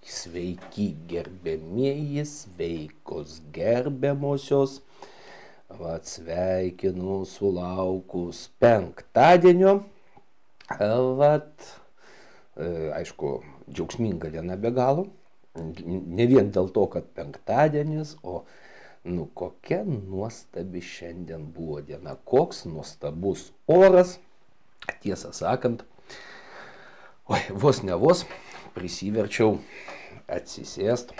sveiki gerbiamieji, sveikos gerbiamosios. Vat sveikinu sulaukus penktadienio. Vat, aišku, džiaugsminga diena be galo. Ne vien dėl to, kad penktadienis, o kokia nuostabi šiandien buvo diena, koks nuostabus oras. Tiesą sakant, vos ne vos prisiverčiau atsisėst,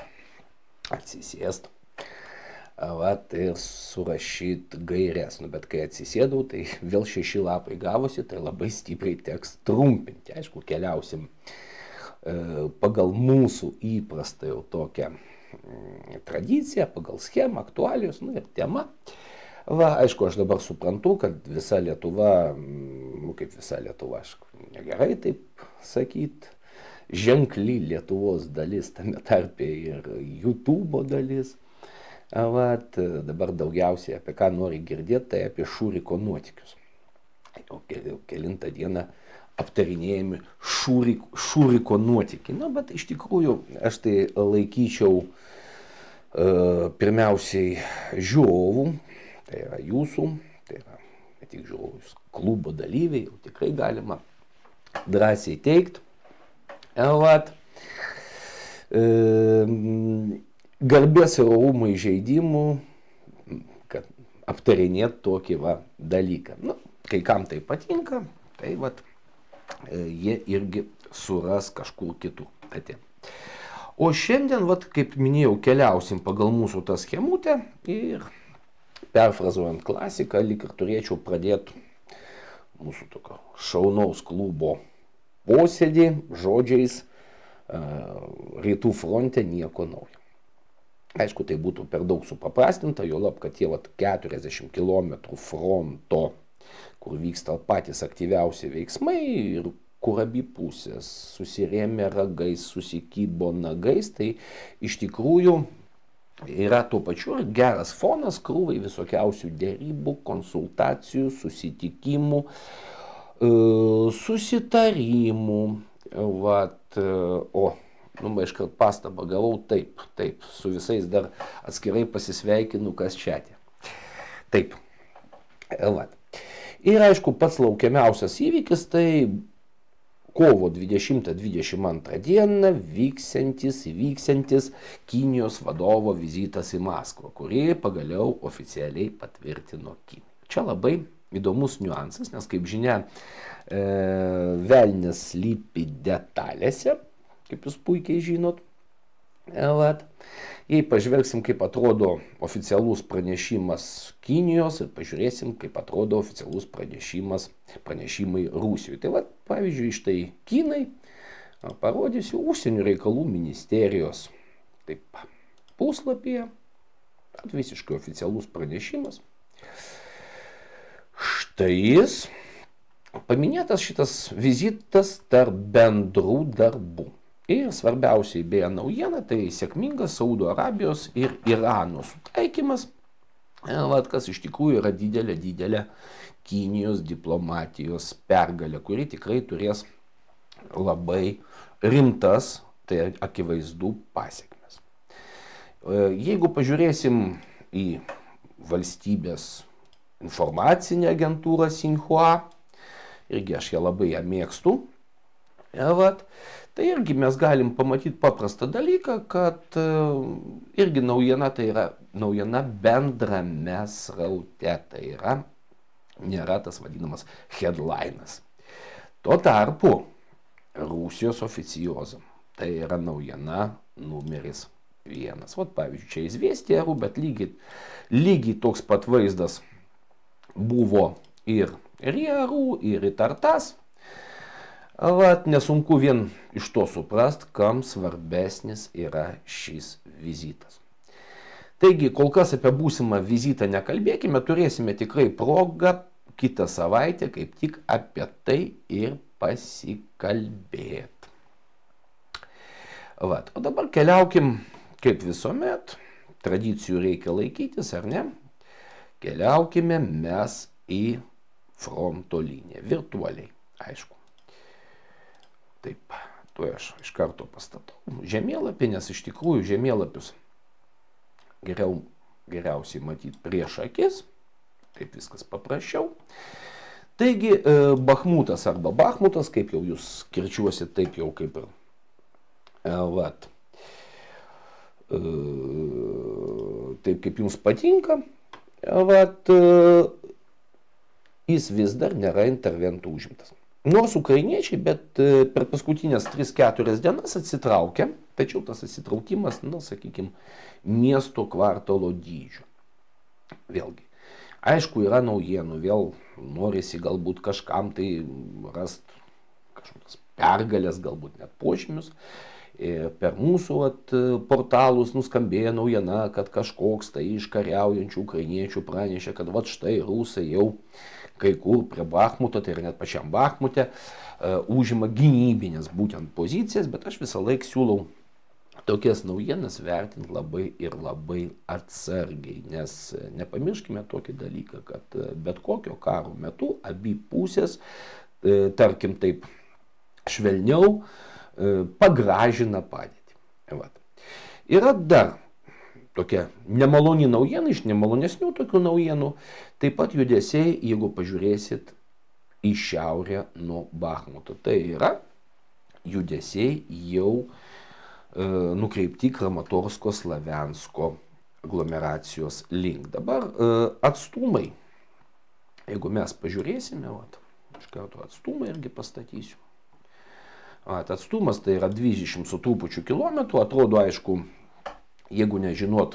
vat ir surašyt gaires. Bet kai atsisėdau, tai vėl 6 lapai gavosi, tai labai stipriai teks trumpinti. Aišku, keliausim pagal mūsų įprastą jau tokią tradiciją, pagal schemą, aktualijos, ir tema. Aišku, aš dabar suprantu, kad visa Lietuva, kaip visa Lietuva, negerai taip sakyt, ženkli Lietuvos dalis, tame tarpe ir YouTube dalis. Dabar daugiausiai apie ką nori girdėti, tai apie Šuriko nuotykius. Jau kelintą dieną aptarinėjami Šuriko nuotykiai. Bet iš tikrųjų aš tai laikyčiau pirmiausiai žiūrovų, tai yra jūsų, tai yra ne tik žiūrovų, klubo dalyviai, jau tikrai galima drąsiai teikti. Garbės ir orumo įžeidimų, kad aptarinėt tokį dalyką. Kai kam tai patinka, tai jie irgi suras kažkur kitur. O šiandien, kaip minėjau, keliausim pagal mūsų tą schemutę ir perfrazuojant klasiką, lyg ir turėčiau pradėti mūsų tokio šaunaus klubo posėdį žodžiais rytų fronte nieko naujo. Aišku, tai būtų per daug supaprastinta, juolab, kad tie 40 km fronto, kur vyksta patys aktyviausi veiksmai ir kur abi pusės susirėmė ragais, susikybo nagais, tai iš tikrųjų yra tuo pačiu geras fonas krūvai visokiausių dėrybų, konsultacijų, susitikimų, susitarimų. Iškart pastabą gavau, taip, su visais dar atskirai pasisveikinu, kas čiatė. Taip. Ir aišku, pats laukiamiausias įvykis, tai kovo 20-22 dieną vyksiantis Kinijos vadovo vizitas į Maskvą, kurį pagaliau oficialiai patvirtino Kinija. Čia labai įdomus niuansas, nes kaip žinia, velnias slypi detalėse, kaip jūs puikiai žinot. Jei pažvelgsim, kaip atrodo oficialus pranešimas Kinijos ir pažiūrėsim, kaip atrodo oficialus pranešimai Rusijoje. Tai pavyzdžiui, štai Kinai, parodysiu užsienio reikalų ministerijos puslapyje, visiškai oficialus pranešimas. Štai jis, paminėtas šitas vizitas tarp bendrų darbų. Ir svarbiausiai beje naujiena, tai sėkmingas Saudo Arabijos ir Irano sutaikymas, kas iš tikrųjų yra didelė Kinijos diplomatijos pergalė, kuri tikrai turės labai rimtas, tai akivaizdu, pasekmes. Jeigu pažiūrėsim į valstybės informacinę agentūrą Xinhua, irgi aš ją labai mėgstu, tai irgi mes galim pamatyti paprastą dalyką, kad irgi naujiena, tai yra naujiena bendrame sraute, tai yra nėra tas vadinamas headlinas. Tuo tarpu Rusijos oficiozam, tai yra naujiena numeris 1. Pavyzdžiui, čia Izvestija, bet lygiai toks pat vaizdas buvo ir Rierų, ir Tartas. Nesunku vien iš to suprast, kam svarbesnis yra šis vizitas. Taigi, kol kas apie būsimą vizitą nekalbėkime, turėsime tikrai progą kitą savaitę kaip tik apie tai ir pasikalbėti. O dabar keliaukim, kaip visuomet, tradicijų reikia laikytis, ar ne? Keliaukime mes į fronto liniją, virtualiai, aišku. Taip, tuo aš iš karto pastatau žemėlapį, nes iš tikrųjų žemėlapius geriausiai matyti prieš akis, taip viskas paprasčiau. Taigi Bachmutas arba Bachmutas, kaip jau jūs kirčiuosit, taip jau kaip ir vat, taip kaip jums patinka, vat, jis vis dar nėra interventų užimtas. Nors ukrainiečiai, bet per paskutinės 3-4 dienas atsitraukia, tačiau tas atsitraukimas, na, sakykime, miesto kvartalo dydžio. Vėlgi, aišku, yra naujienų, vėl norisi galbūt kažkam tai rast kažkokias pergalės, galbūt net požymius. Per mūsų portalus nuskambėjo naujiena, kad kažkoks tai iš kariaujančių ukrainiečių pranešė, kad vat štai rusai jau kai kur prie Bachmuto, tai ir net pačiam Bachmute, užima gynybinės būtent pozicijas, bet aš visą laiką siūlau tokias naujienas vertinti labai ir labai atsargiai, nes nepamirškime tokį dalyką, kad bet kokio karo metu abi pusės, tarkim taip švelniau, pagražina padėtį. Vat. Yra dar tokia nemaloni naujiena, iš nemalonesnių tokių naujienų, taip pat judesiai, jeigu pažiūrėsit į šiaurę nuo Bachmuto. Tai yra judesiai jau nukreipti Kramatorsko Slaviansko aglomeracijos link. Dabar atstumai, jeigu mes pažiūrėsime, vat, iš karto atstumą irgi pastatysiu. Atstumas tai yra 20 su trupučiu kilometrų, atrodo aišku, jeigu nežinot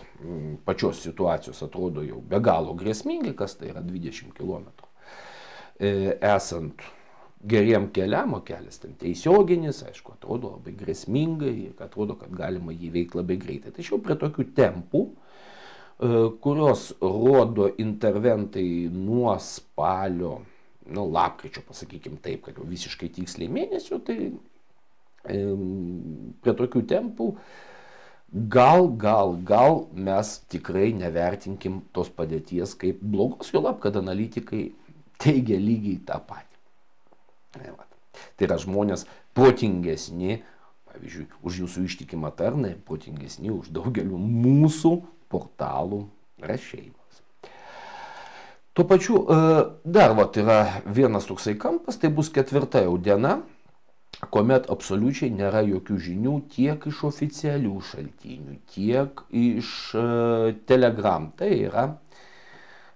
pačios situacijos, atrodo jau be galo grėsmingai, kas tai yra 20 km. Esant geriem keliam, o kelias ten tiesioginis, aišku, atrodo labai grėsmingai, atrodo, kad galima jį veikti labai greitai. Tačiau prie tokių tempų, kurios rodo interventai nuo spalio, lapkričio, pasakykim taip, kad jau visiškai tiksliai mėnesių, tai prie tokių tempų gal mes tikrai nevertinkim tos padėties kaip blogos, juolab, kad analitikai teigia lygiai tą patį. Tai yra žmonės protingesni, pavyzdžiui, už jūsų ištikimą tarną, protingesni už daugelių mūsų portalų rašėjimas. Tuo pačiu dar yra vienas toksai kampas, tai bus 4 jau diena, kuomet absoliučiai nėra jokių žinių tiek iš oficialių šaltinių, tiek iš Telegram. Tai yra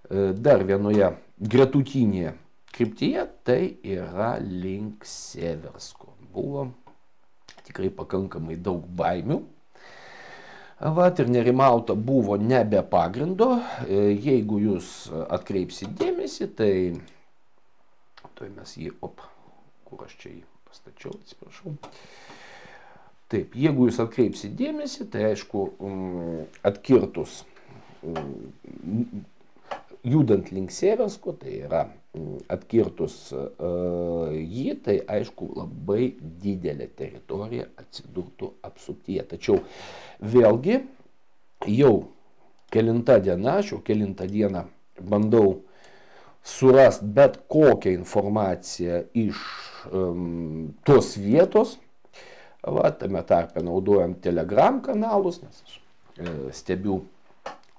dar vienoje gretutinėje kryptyje, tai yra link Seversko. Buvo tikrai pakankamai daug baimių. Vat ir nerimauta buvo ne be pagrindo. Jeigu jūs atkreipsit dėmesį, tai tuoj mes jį, kur aš čia jį pastačiau, atsiprašau. Taip, jeigu jūs atkreipsit dėmesį, tai aišku, atkirtus, judant link Seversko, tai yra atkirtus jį, tai aišku, labai didelė teritorija atsidurtų apsuptyje. Tačiau vėlgi, jau kelinta diena, aš jau kelintą dieną bandau surast bet kokią informaciją iš tos vietos, tame tarpe naudojam Telegram kanalus, nes aš stebiu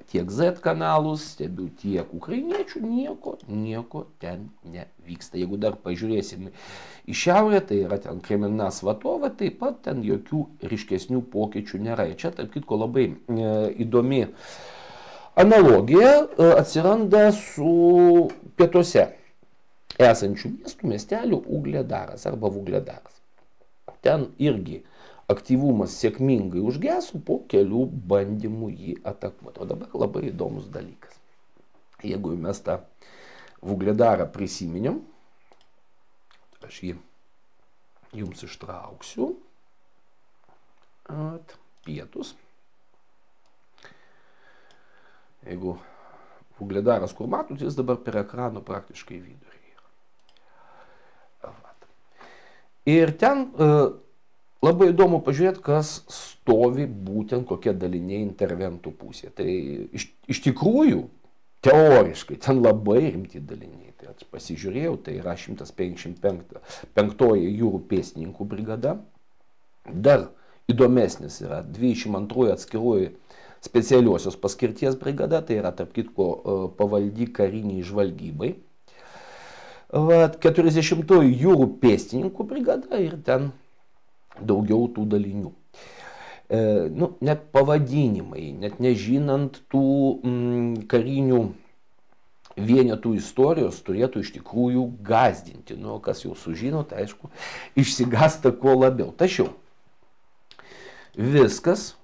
tiek Z kanalus, stebiu tiek ukrainiečių, nieko ten nevyksta. Jeigu dar pažiūrėsim į šiaurę, tai yra ten Kremena Svatova, taip pat ten jokių ryškesnių pokyčių nėra. Ir čia, tarp kitko, labai įdomi analogija atsiranda su pietuose esančių miestų, miestelių Ugledaras arba Vugledaras. Ten irgi aktyvumas sėkmingai užgeso po kelių bandymų jį atakuoti. O dabar labai įdomus dalykas. Jeigu mes tą Vugledarą prisiminėm, aš jį jums ištrauksiu. Pietus. Jeigu Vugledaras, kur matot, jis dabar per ekrano praktiškai vidurį yra. Ir ten labai įdomu pažiūrėti, kas stovi būtent kokie daliniai interventų pusėje. Tai iš tikrųjų, teoriškai, ten labai rimti daliniai. Tai aš pasižiūrėjau, tai yra 155 jūrų pėstininkų brigada. Dar įdomesnis yra 22 atskiroji specialiosios paskirties brigada, tai yra tarp kitko pavaldi kariniai žvalgybai. 40 jūrų pėstininkų brigada ir ten daugiau tų dalinių. Net pavadinimai, net nežinant tų karinių vienetų istorijos, turėtų iš tikrųjų gazdinti. Kas jau sužino, tai aišku, išsigąsta kuo labiau. Tačiau viskas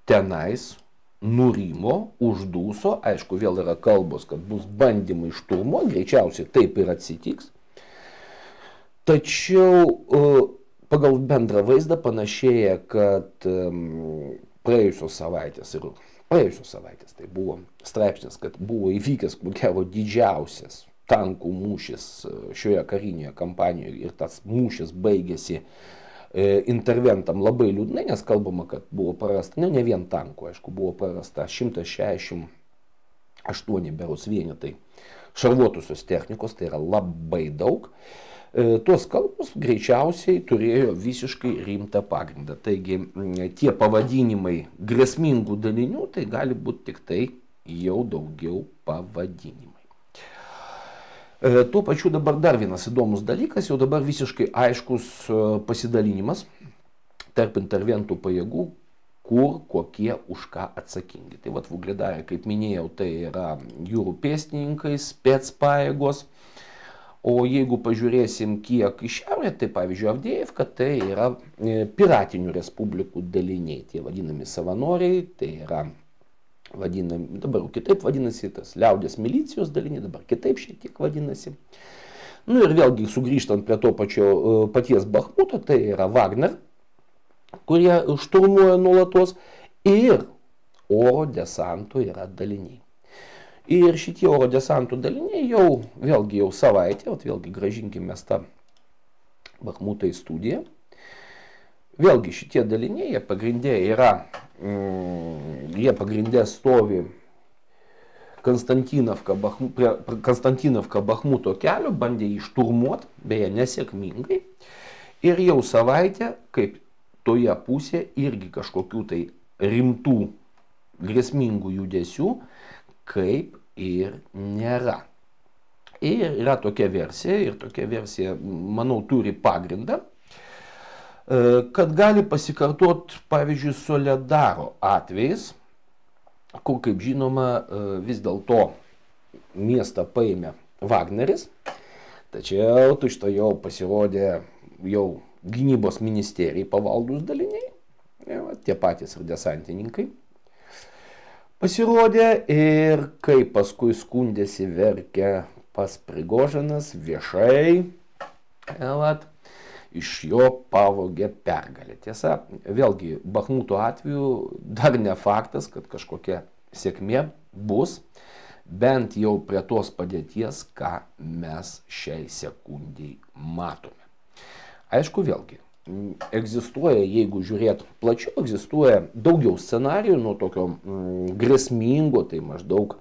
tenais nurimo, uždūso, aišku, vėl yra kalbos, kad bus bandymai šturmuoti, greičiausiai taip ir atsitiks. Tačiau pagal bendrą vaizdą panašėja, kad praėjusios savaitės tai buvo straipsnis, kad buvo įvykęs, ko gero, didžiausias tankų mūšis šioje karinėje kampanijoje ir tas mūšis baigėsi interventam labai liūdnai, nes kalbama, kad buvo prarasta, ne vien tankų, aišku, buvo prarasta 168 berods vienetai šarvuotusios technikos, tai yra labai daug. Tos kalbos greičiausiai turėjo visiškai rimtą pagrindą. Taigi tie pavadinimai grėsmingų dalinių, tai gali būti tik tai jau daugiau pavadinimai. Tuo pačiu dabar dar vienas įdomus dalykas, jau dabar visiškai aiškus pasidalinimas tarp interventų pajėgų, kur kokie už ką atsakingi. Tai Vuhledarė, kaip minėjau, tai yra jūrų pėstininkai, specpajėgos. O jeigu pažiūrėsim kiek į šiaurę, tai pavyzdžiui Avdėjevka, tai yra piratinių respublikų daliniai, tie vadinami savanoriai, tai yra vadinami, dabar kitaip vadinasi, tas liaudės milicijos daliniai, dabar kitaip šiek tiek vadinasi. Ir vėlgi sugrįžtant prie to paties Bachmuto, tai yra Wagner, kurie šturmuoja nuolatos, ir oro desanto yra daliniai. Ir šitie oro desanto daliniai jau savaitę, vėlgi gražinkime tą Bachmutą į studiją. Vėlgi šitie daliniai, jie pagrindė stovi Konstantinovka Bachmuto kelio, bandė jį šturmuoti, beje nesėkmingai. Ir jau savaitę, kaip toje pusėje, irgi kažkokių tai rimtų grėsmingų judesių, kaip ir nėra. Ir yra tokia versija, ir tokia versija, manau, turi pagrindą, kad gali pasikartoti, pavyzdžiui, Soledaro atvejais, kur, kaip žinoma, vis dėlto miestą paėmė Wagneris, tačiau tučtuojau pasirodė jau gynybos ministerijai pavaldūs daliniai, tie patys ir desantininkai pasirodė, ir kaip paskui skundėsi, verkė pas Prigožinas viešai, iš jo pavogė pergalę. Tiesa, vėlgi, Bachmuto atveju dar ne faktas, kad kažkokia sėkmė bus, bent jau prie tos padėties, ką mes šiai sekundžiai matome. Aišku, vėlgi, egzistuoja, jeigu žiūrėt plačiau, egzistuoja daugiau scenarijų, nuo tokio grėsmingo, tai maždaug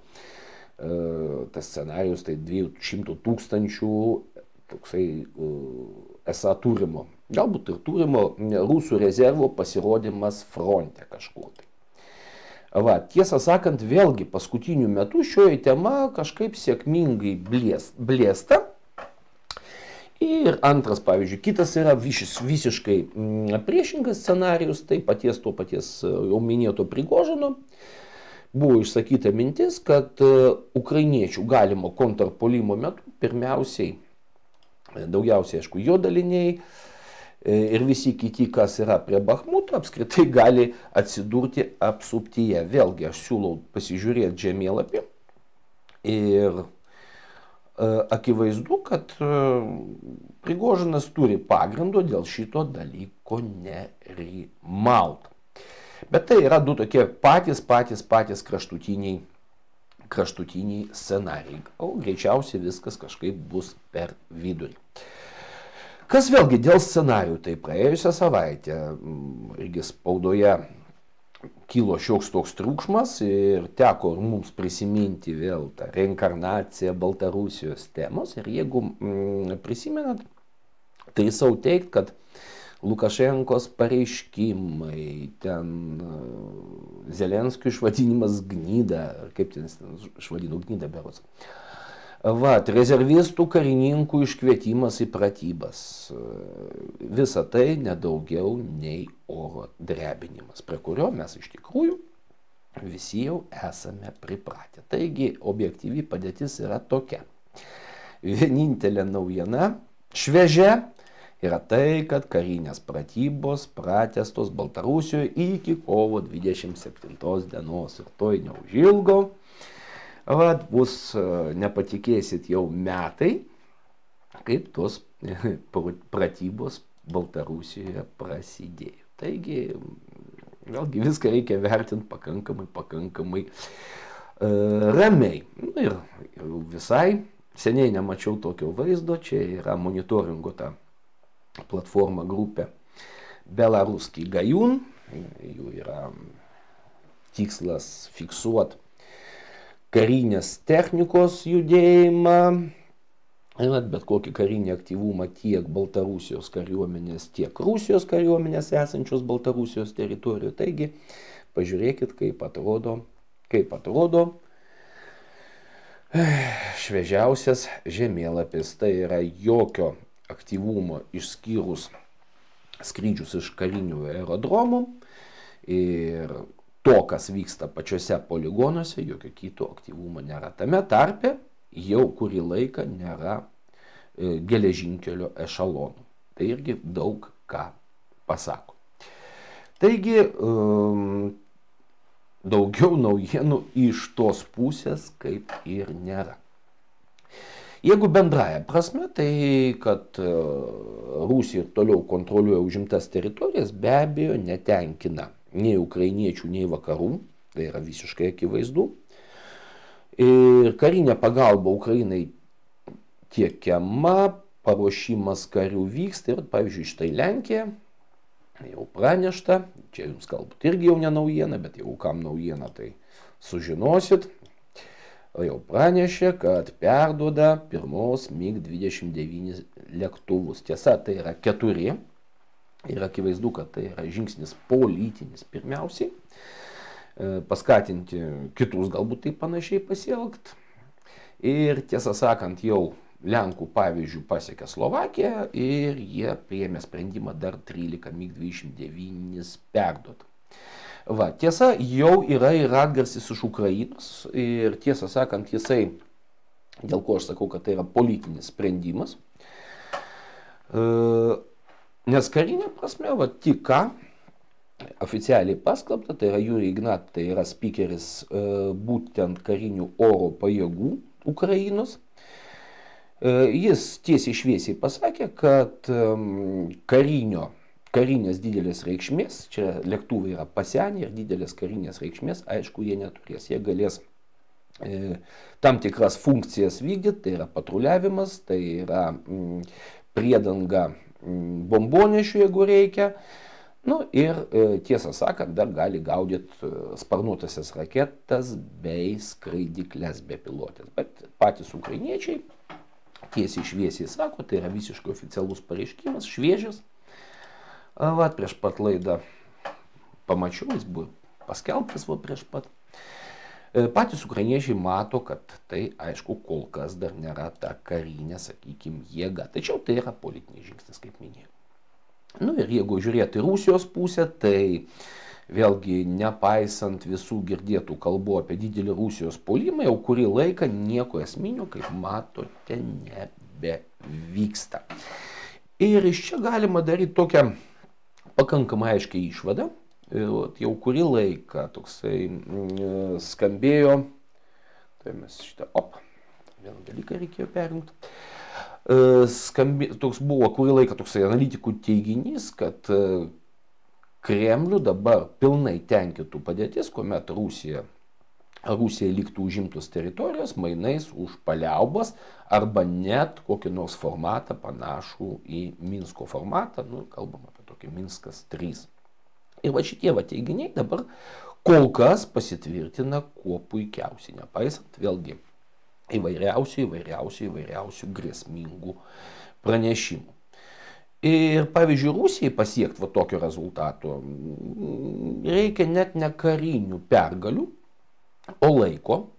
tas scenarijus, tai 200 000 toksai esą turimo, galbūt ir turimo rusų rezervo pasirodymas fronte kažkur tai. Tiesą sakant, vėlgi paskutiniu metu šioji tema kažkaip sėkmingai blėsta. Ir antras, pavyzdžiui, kitas yra visiškai priešingas scenarijus, tai to paties jau minėto Prigožino. Buvo išsakyta mintis, kad ukrainiečių galimo kontrpuolimo metu pirmiausiai, daugiausiai, aišku, jo daliniai ir visi kiti, kas yra prie Bachmuto, apskritai gali atsidurti apsuptyje. Vėlgi aš siūlau pasižiūrėti žemėlapį ir akivaizdu, kad Prigožinas turi pagrindo dėl šito dalyko nerimauti. Bet tai yra du tokie patys kraštutiniai scenarijai. O greičiausiai viskas kažkaip bus per vidurį. Kas vėlgi dėl scenarijų, tai praėjusią savaitę irgi spaudoje kilo šioks toks triukšmas ir teko mums prisiminti vėl tą reinkarnaciją Baltarusijos temos. Ir jeigu prisimenat, tai savo teigt, kad Lukašenkos pareiškimai, ten Zelenskio išvadinimas gnyda, ar kaip ten išvadino gnyda berods. Rezervistų karininkų iškvietimas į pratybas. Visa tai nedaugiau nei oro drebinimas, prie kurio mes iš tikrųjų visi jau esame pripratę. Taigi objektyvi padėtis yra tokia. Vienintelė naujiena šviežia yra tai, kad karinės pratybos pratęstos Baltarusijoje iki kovo 27 dienos ir toj neužilgo. Bus, nepatikėsit, jau metai, kaip tos pratybos Baltarusijoje prasidėjo. Taigi, vėlgi viską reikia vertinti pakankamai ramiai. Ir visai seniai nemačiau tokio vaizdo, čia yra monitoringo ta platforma grupė Belaruskij Gajun, jų yra tikslas fiksuoti karinės technikos judėjimą, bet kokį karinį aktyvumą tiek Baltarusijos kariuomenės, tiek Rusijos kariuomenės esančios Baltarusijos teritorijoje. Taigi, pažiūrėkit, kaip atrodo šviežiausias žemėlapis. Tai yra jokio aktyvumo išskyrus skrydžius iš karinių aerodromų ir to, kas vyksta pačiuose poligonuose, jokio kito aktyvumo nėra. Tame tarpe jau kurį laiką nėra geležinkelio ešalonų. Tai irgi daug ką pasako. Taigi, daugiau naujienų iš tos pusės kaip ir nėra. Jeigu bendraja prasme, tai kad Rusija toliau kontroliuoja užimtas teritorijas, be abejo netenkina nei ukrainiečių, nei vakarų, tai yra visiškai akivaizdu. Ir karinė pagalba Ukrainai tiekiama, paruošimas karių vyksta. Ir pavyzdžiui, štai Lenkija jau pranešta, čia jums galbūt irgi jau ne naujiena, bet jeigu kam naujiena, tai sužinosit. Jau pranešė, kad perduoda pirmos MiG-29 lėktuvus. Tiesa, tai yra 4. Ir akivaizdu, kad tai yra žingsnis politinis pirmiausiai. Paskatinti kitus galbūt taip panašiai pasielgti. Ir tiesą sakant, jau Lenkų pavyzdžių pasiekė Slovakiją ir jie priėmė sprendimą dar 13 MiG-29 perduoti. Tiesa, jau yra ir atgarsis iš Ukrainos ir tiesą sakant, jisai, dėl ko aš sakau, kad tai yra politinis sprendimas, nes karinė prasme, tik ką oficialiai paskelbta, tai yra Jurij Ignat, tai yra spikeris būtent karinių oro pajėgų Ukrainos. Jis tiesiai šviesiai pasakė, kad karinės didelės reikšmės, čia lėktuvai yra pasenę ir didelės karinės reikšmės, aišku, jie neturės. Jie galės tam tikras funkcijas vykdyti, tai yra patruliavimas, tai yra priedanga bombonešių, jeigu reikia. Ir tiesą sakant, dar gali gaudyti sparnuotasias raketas bei skraidyklės bepilotės. Bet patys ukrainiečiai tiesiai šviesiai sako, tai yra visiškai oficialus pareiškimas, šviežias. Prieš pat laidą pamačiau, jis buvo paskelbtas prieš pat. Patys ukrainiečiai mato, kad tai, aišku, kol kas dar nėra ta karinė, sakykime, jėga. Tačiau tai yra politinis žingsnis, kaip minėjau. Ir jeigu žiūrėti Rusijos pusę, tai vėlgi nepaisant visų girdėtų kalbų apie didelį Rusijos puolimą, jau kurį laiką nieko esminio, kaip matote, nebevyksta. Ir iš čia galima daryti tokią pakankamai aiškiai išvadą. Jau kurį laiką toksai skambėjo, tai mes vieną dalyką reikėjo perjungti. Toks buvo kurį laiką toksai analitikų teiginys, kad Kremlių dabar pilnai tenkintų padėtis, kuomet Rusija liktų užimtos teritorijos mainais už paliaubas arba net kokį nors formatą panašų į Minsko formatą, kalbam apie tokį Minskas 3. Ir šitie teiginiai dabar kol kas pasitvirtina kuo puikiausiai, nepaisant vėlgi įvairiausių grėsmingų pranešimų. Ir pavyzdžiui, Rusijai pasiekti va tokio rezultato reikia net ne karinių pergalių, o laiko.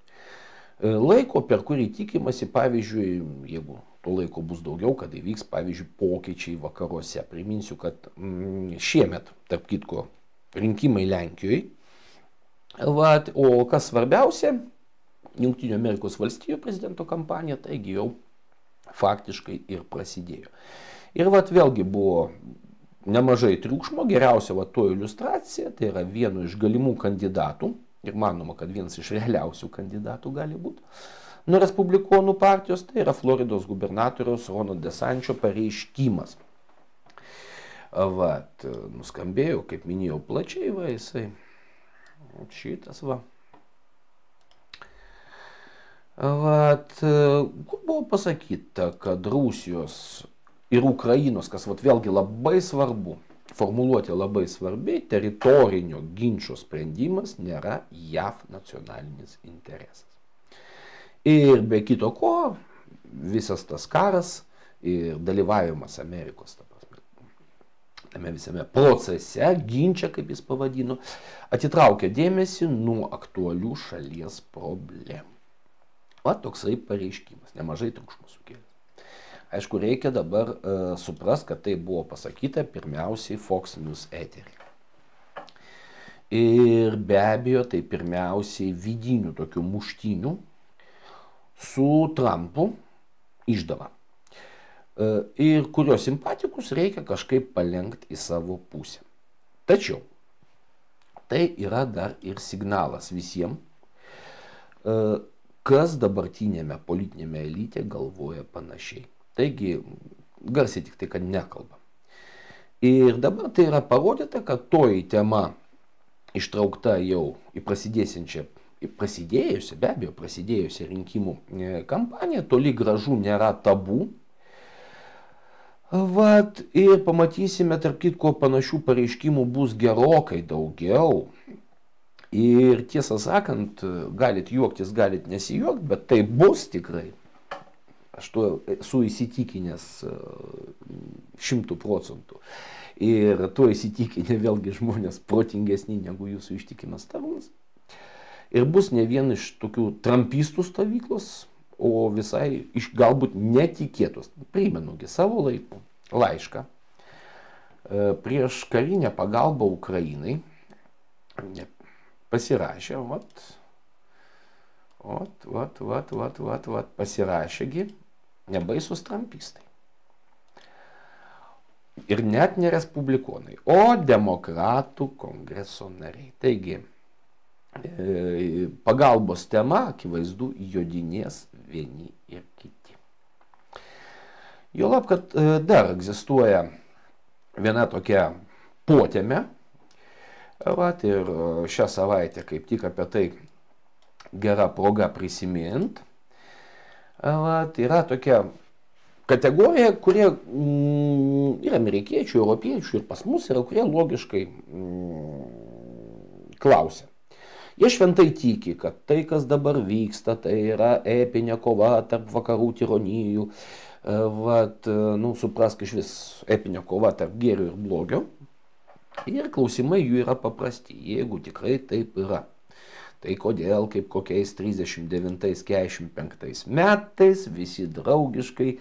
Laiko, per kurį tikimasi, pavyzdžiui, jeigu to laiko bus daugiau, kad įvyks, pavyzdžiui, pokyčiai vakaruose. Priminsiu, kad šiemet, tarp kitko, rinkimai Lenkijoje. O kas svarbiausia, Jungtinių Amerikos valstijų prezidento kampanija, taigi jau faktiškai ir prasidėjo. Ir vėlgi buvo nemažai triukšmo, geriausia to iliustracija, tai yra vieno iš galimų kandidatų, ir manoma, kad vienas iš realiausių kandidatų gali būti, nuo Respublikonų partijos, tai yra Floridos gubernatoriaus Rono DeSančio pareiškimas. Nuskambėjo, kaip minėjau, plačiai, jisai šitas kur buvo pasakyta, kad Rusijos ir Ukrainos, kas vėlgi labai svarbu, formuluoti labai svarbi, teritorinio ginčo sprendimas nėra JAV nacionalinis interesas. Ir be kito ko, visas tas karas ir dalyvavimas Amerikos tame visame procese, ginčia, kaip jis pavadino, atitraukia dėmesį nuo aktualių šalies problemų. Toksai pareiškimas, nemažai triukšmo sukėlė. Aišku, reikia dabar suprast, kad tai buvo pasakyta pirmiausiai Fox News etery. Ir be abejo, tai pirmiausiai vidinių tokių muštynių su Trumpu išdava. Ir kurio simpatikus reikia kažkaip palenkti į savo pusę. Tačiau tai yra dar ir signalas visiems, kas dabartinėme politinėme elite galvoja panašiai. Taigi, garsiai tik tai, kad nekalba. Ir dabar tai yra parodyta, kad toji tema ištraukta jau į prasidėjusią rinkimų kampaniją, toli gražu nėra tabu. Ir pamatysime, tarp kitko, panašių pareiškimų bus gerokai daugiau. Ir tiesą sakant, galit juoktis, galit nesijuokti, bet tai bus tikrai. Aš tuo esu įsitikinęs 100%. Ir tuo įsitikinę vėlgi žmonės protingesni negu jūsų ištikimas tarnas. Ir bus ne vien iš tokių trumpistų stovyklos, o visai iš galbūt netikėtos. Primenugi savo laiku laišką prieš karinę pagalbą Ukrainai pasirašė, pasirašėgi nebaisus trumpistai. Ir net ne respublikonai, o demokratų kongreso nariai. Taigi, pagalbos tema, akivaizdu, jodinės vieni ir kiti. Juolab, kad dar egzistuoja viena tokia potėmė, ir šią savaitę kaip tik apie tai gera proga prisimint, yra tokia kategorija, kurie ir amerikiečių, europiečių, ir pas mus yra, kurie logiškai klausia. Jie šventai tiki, kad tai, kas dabar vyksta, tai yra epinė kova tarp vakarų tironijų. Suprask iš vis epinė kova tarp gėrio ir blogio. Ir klausimai jų yra paprasti, jeigu tikrai taip yra. Tai kodėl, kaip kokiais 39-45 metais, visi draugiškai,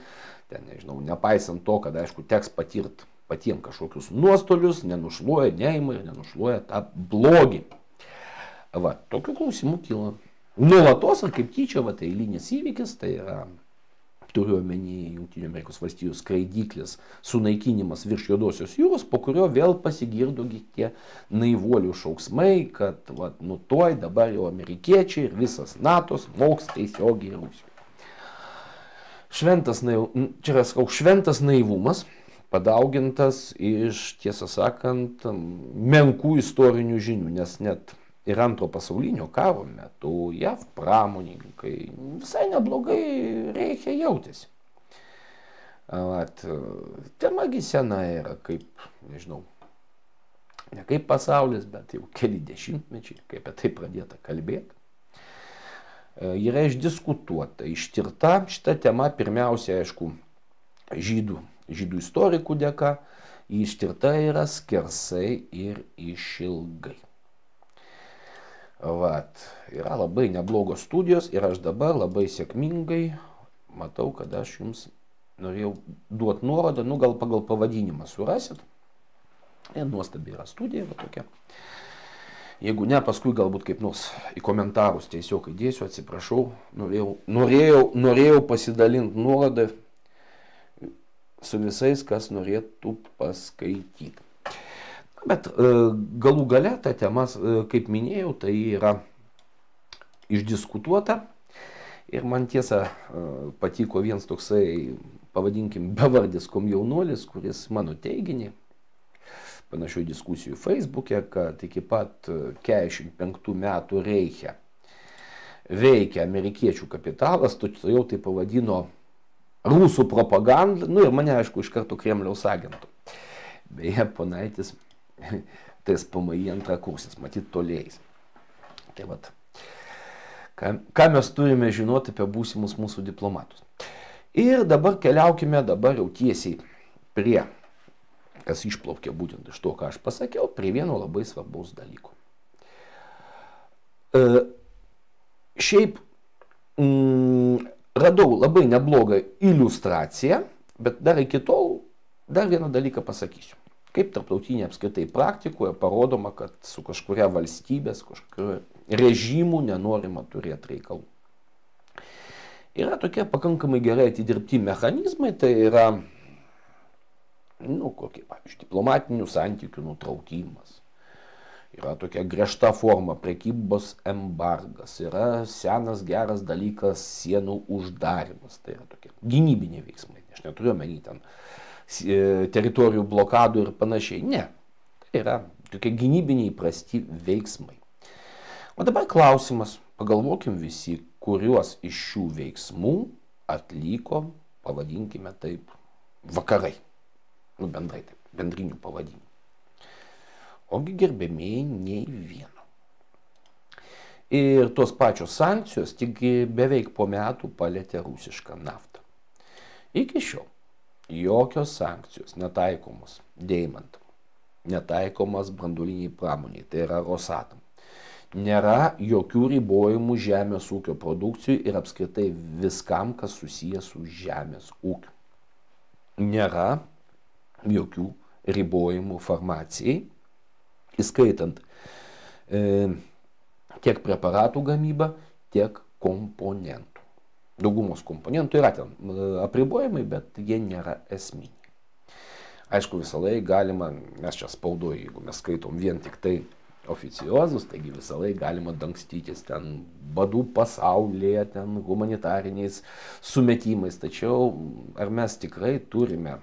nepaisant to, kad aišku teks patirti patiems kažkokius nuostolius, nenušluoja, neima ir nenušluoja tą blogį. Tokių klausimų kyla. Nuolatos ar kaip tyčia, tai eilinis įvykis, tai yra, turiu omeny Jungtinių Amerikos valstijų skraidyklis sunaikinimas virš Juodosios jūros, po kurio vėl pasigirdo tie naivuolių šauksmai, kad tuoj dabar jau amerikiečiai ir visas NATO smogs tiesiogiai Rusijoje. Šventas naivumas, padaugintas iš, tiesą sakant, menkų istorinių žinių, nes net ir antro pasaulinio karo metu JAV pramonininkai visai neblogai reikia jautėsi. Temagi sena yra kaip, nežinau, ne kaip pasaulis, bet jau keli dešimtmečiai, kaip apie tai pradėta kalbėti. Yra išdiskutuota, ištirta šita tema pirmiausia, aišku, žydų žydų istorikų dėka, ištirta yra skersai ir išilgai. Vat, yra labai neblogos studijos ir aš dabar labai sėkmingai matau, kad aš jums norėjau duoti nuorodą, nu gal pagal pavadinimą surasit. Ir nuostabi yra studija, va tokia. Jeigu ne, paskui galbūt kaip nors į komentarus tiesiog įdėsiu, atsiprašau, norėjau pasidalinti nuorodą su visais, kas norėtų paskaityti. Bet galų gale ta tema, kaip minėjau, tai yra išdiskutuota. Ir man tiesa patiko vienas toksai, pavadinkim, bevardis komjaunuolis, kuris mano teiginį, panašių diskusijų Facebook'e, kad iki pat 45 metų Reiche veikia amerikiečių kapitalas, jau tai pavadino rusų propaganda, nu ir mane, aišku, iš karto Kremliaus agentų. Beje, ponaitis, tai SPMI antrakursis, matyt, tolėjais. Tai vat, ką mes turime žinoti apie būsimus mūsų diplomatus. Ir dabar keliaukime dabar jau tiesiai prie, kas išplaukė būtent iš to, ką aš pasakiau, prie vieno labai svarbaus dalyko. Šiaip radau labai neblogą iliustraciją, bet dar iki tol dar vieną dalyką pasakysiu. Kaip tarptautinė apskritai praktikoje parodoma, kad su kažkuria valstybės, kažkuria režimų nenorima turėti reikalų. Yra tokie pakankamai gerai atidirbti mechanizmai, tai yra, kokie, pavyzdžiui, diplomatinių santykių nutraukimas. Yra tokia griežta forma prekybos embargas, yra senas geras dalykas sienų uždarimas, tai yra tokie gynybiniai veiksmai, aš neturiu omeny ten teritorijų blokadų ir panašiai, ne, tai yra tokie gynybiniai įprasti veiksmai. O dabar klausimas, pagalvokim visi, kuriuos iš šių veiksmų atliko, pavadinkime taip, vakarai, bendrai taip, bendrinių pavadinimų. Ogi gerbėmėjai nei vieno. Ir tos pačios sankcijos tik beveik po metų palėtė rusišką naftą. Iki šiol jokios sankcijos netaikomos deimantam, netaikomas branduoliniai pramoniai, tai yra Rosatom. Nėra jokių ribojimų žemės ūkio produkcijų ir apskritai viskam, kas susijęs su žemės ūkiu. Nėra jokių ribojimų farmacijai, įskaitant tiek preparatų gamybą, tiek komponentų. Daugumos komponentų yra ten apribojimai, bet jie nėra esminiai. Aišku, visą laiką galima, mes čia spaudoje, jeigu mes skaitom vien tik tai oficiozus, taigi visą laiką galima dangstytis ten badų pasaulyje, ten humanitariniais sumetimais. Tačiau ar mes tikrai turime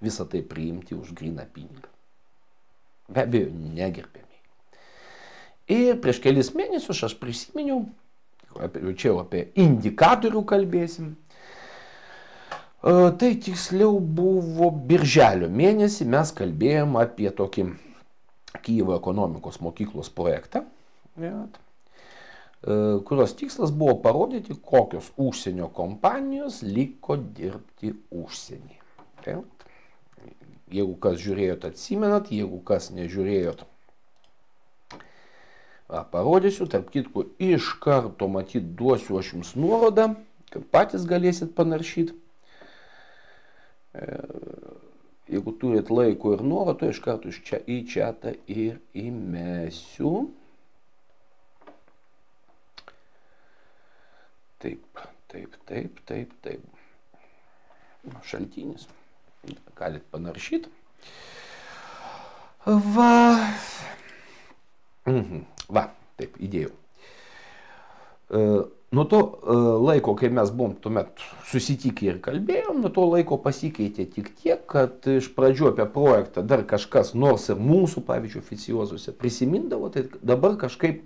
visą tai priimti už gryną pinigą? Be abejo, negerbėmiai. Ir prieš kelis mėnesius aš prisiminiau, čia jau apie indikatorių kalbėsim, tai tiksliau buvo birželio mėnesį, mes kalbėjom apie tokį Kijevo ekonomikos mokyklos projektą, kurios tikslas buvo parodyti, kokios užsienio kompanijos liko dirbti užsienyje. Jeigu kas žiūrėjot, atsimenat, jeigu kas nežiūrėjot, parodysiu, tarp kitko, iš karto matyt duosiu aš jums nuorodą, kad patys galėsit panaršyti. Jeigu turit laiko ir norą, to iš karto iš čia į čatą ir įmesiu. Taip. Šaltinis. Galit panaršyti. Va, taip, įdėjau. Nuo to laiko, kai mes buvom tuomet susitikę ir kalbėjom, nuo to laiko pasikeitė tik tiek, kad iš pradžių apie projektą dar kažkas, nors ir mūsų, pavyzdžiui, oficiozuose prisimindavo, tai dabar kažkaip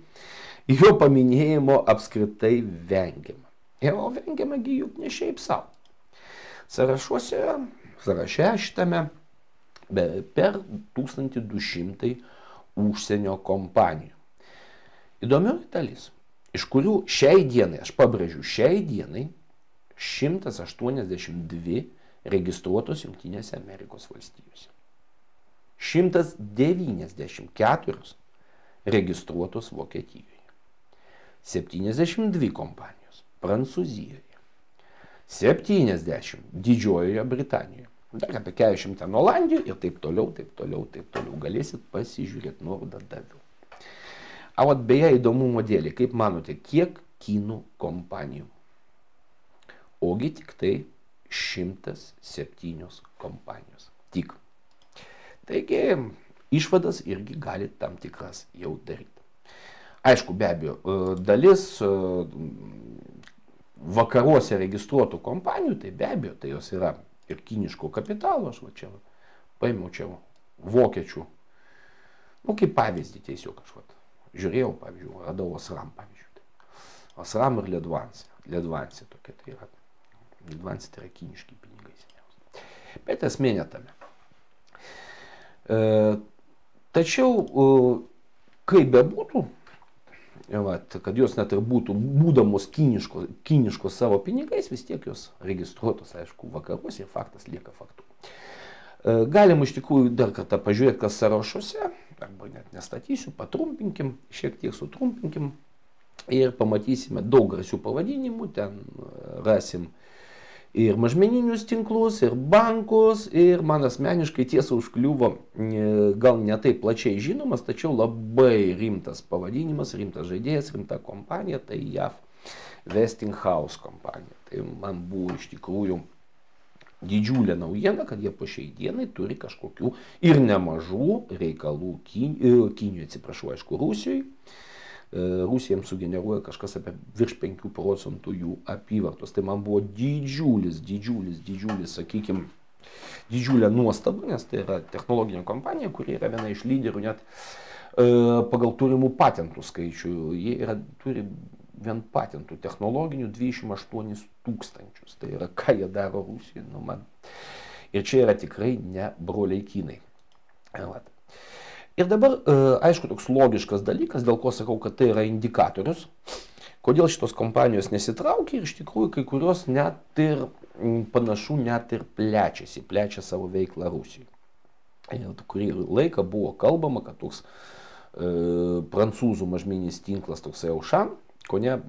jo paminėjimo apskritai vengiama. O vengiamagi juk ne šiaip savo. Sąraše šitame per 1200 užsienio kompanijų. Įdomioji dalis, iš kurių šiai dienai, aš pabrėžiu, šiai dienai 182 registruotos Jungtinėse Amerikos valstijose. 194 registruotos Vokietijoje. 72 kompanijos Prancūzijoje. 70 Didžiojoje Britanijoje. Dar apie 40 ten Olandijoje ir taip toliau. Galėsit pasižiūrėti, nuorodą daviau. O vat beje įdomumo dėlį, kaip manote, kiek kinų kompanijų? Ogi tik tai 107 kompanijos. Tik. Taigi, išvadas irgi gali tam tikras jau daryti. Aišku, be abejo, dalis vakaruose registruotų kompanijų, tai be abejo, tai jos yra ir kiniško kapitalo, aš va čia paėmiau čia vokiečių, nu kaip pavyzdį tiesiog aš va žiūrėjau, pavyzdžiui, radau Osram pavyzdžiui. Osram ir Ledvansi tokia tai yra. Ledvansi tai yra kiniški pinigai seniausiai. Bet esmė ne tame. Tačiau, kaip bebūtų, kad jos net ir būdamos kiniškos savo pinigais, vis tiek jos registruotos, aišku, vakaruose ir faktas lieka faktu. Galim iš tikrųjų dar kartą pažiūrėti, kas sąrašuose, arba net nestatysiu, patrumpinkim, šiek tiek sutrumpinkim ir pamatysime daug garsių pavadinimų, ten rasim ir mažmeninius tinklus, ir bankus, ir man asmeniškai tiesa užkliuvo, gal ne taip plačiai žinomas, tačiau labai rimtas pavadinimas, rimtas žaidėjas, rimta kompanija, tai JAV Westinghouse kompanija. Tai man buvo iš tikrųjų didžiulė naujiena, kad jie po šiai dienai turi kažkokių ir nemažų reikalų Kinijoje, atsiprašau, aišku, Rusijoje. Rusija jiems sugeneruoja kažkas apie virš 5% jų apyvartos. Tai man buvo didžiulis, sakykime, didžiulė nuostaba, nes tai yra technologinė kompanija, kuri yra viena iš lyderių net pagal turimų patentų skaičių. Jie turi vien patentų technologinių 28 000. Tai yra, ką jie daro Rusijoje. Nu, man. Ir čia yra tikrai ne broliai kinai. Ir dabar, aišku, toks logiškas dalykas, dėl ko sakau, kad tai yra indikatorius, kodėl šitos kompanijos nesitraukia ir iš tikrųjų kai kurios net ir panašu net ir plečia savo veiklą Rusijoje. Ir kurį laiką buvo kalbama, kad toks prancūzų mažmeninis tinklas toksai Auchan, ko ne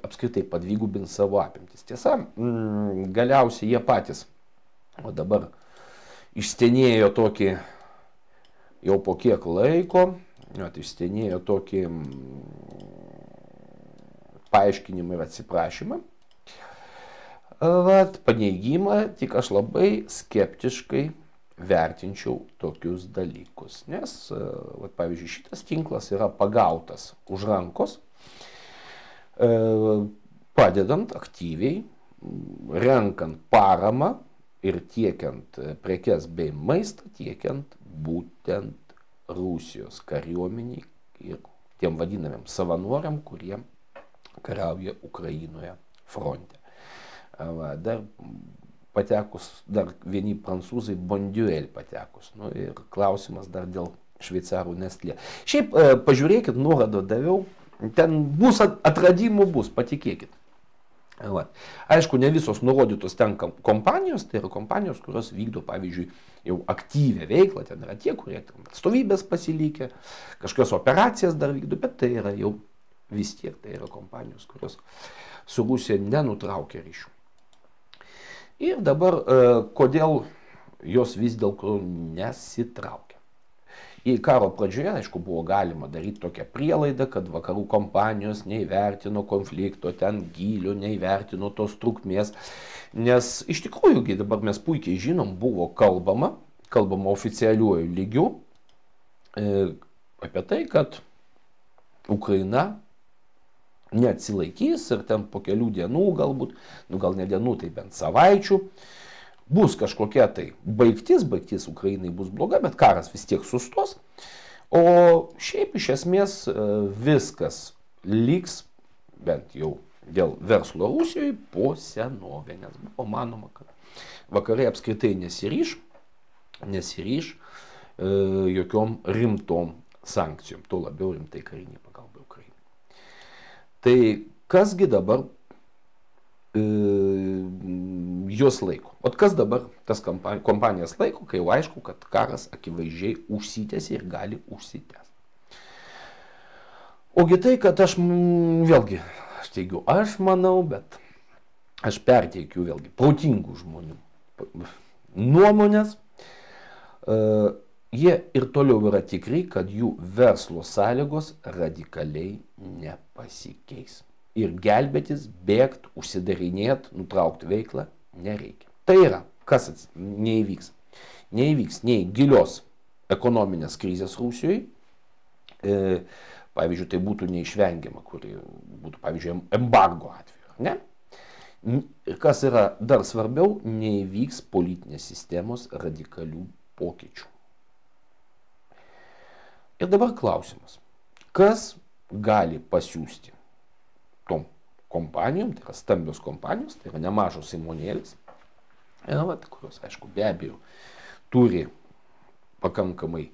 apskritai padvigubins savo apimtis. Tiesa, galiausiai jie patys, o dabar išstenėjo tokį, jau po kiek laiko, išstenėjo tokį paaiškinimą ir atsiprašymą, paneigimą, tik aš labai skeptiškai vertinčiau tokius dalykus. Nes, pavyzdžiui, šitas tinklas yra pagautas už rankos, padedant aktyviai, renkant paramą ir tiekiant prekes bei maistą, tiekiant būtent Rusijos kariuomeniai ir tiem vadinamiem savanoriam, kurie kariauja Ukrainoje fronte. Dar patekus, dar vieni prancūzai Bonduel patekus. Nu, ir klausimas dar dėl šveicarų Nestlé. Šiaip pažiūrėkit, nuorodą daviau, ten bus atradimų, patikėkit. Aišku, ne visos nurodytos ten kompanijos, tai yra kompanijos, kurios vykdo, pavyzdžiui, jau aktyvę veiklą, ten yra tie, kurie atstovybės pasilikė, kažkokios operacijas dar vykdo, bet tai yra jau vis tiek, tai yra kompanijos, kurios su Rusija nenutraukia ryšių. Ir dabar, kodėl jos vis dėlto nesitraukia? Į karo pradžioje, aišku, buvo galima daryti tokią prielaidą, kad vakarų kompanijos neįvertino konflikto, ten gylio, neįvertino tos trukmės. Nes iš tikrųjų, dabar mes puikiai žinom, buvo kalbama oficialiuoju lygiu apie tai, kad Ukraina neatsilaikys ir ten po kelių dienų galbūt, nu gal ne dienų, tai bent savaičių, bus kažkokia tai baigtis Ukrainai bus bloga, bet karas vis tiek sustos, o šiaip iš esmės viskas liks, bent jau dėl verslo Rusijoje, po senovę, nes buvo manoma, kad vakarai apskritai nesiryš jokiom rimtom sankcijom, tuo labiau rimtai karinė pagalba Ukrainai. Tai kasgi dabar jos laiko. O kas dabar tas kompanijas laiko, kai jau aišku, kad karas akivaizdžiai užsitęs ir gali užsitęs. Ogi tai, kad aš vėlgi, aš teigiu, aš manau, bet aš perteikiu vėlgi protingų žmonių nuomonės. Jie ir toliau yra tikri, kad jų verslo sąlygos radikaliai nepasikeis. Ir gelbėtis, bėgti, užsidarinėti, nutraukti veiklą nereikia. Tai yra, kas neįvyks. Neįvyks nei gilios ekonominės krizės Rusijoje, pavyzdžiui, tai būtų neišvengiama, kuri būtų, pavyzdžiui, embargo atveju, ne? Ir kas yra dar svarbiau, neįvyks politinės sistemos radikalių pokyčių. Ir dabar klausimas, kas gali pasiūsti tom kompanijom, tai yra stambios kompanijos, tai yra nemažos įmonėlės, kurios, aišku, be abejo, turi pakankamai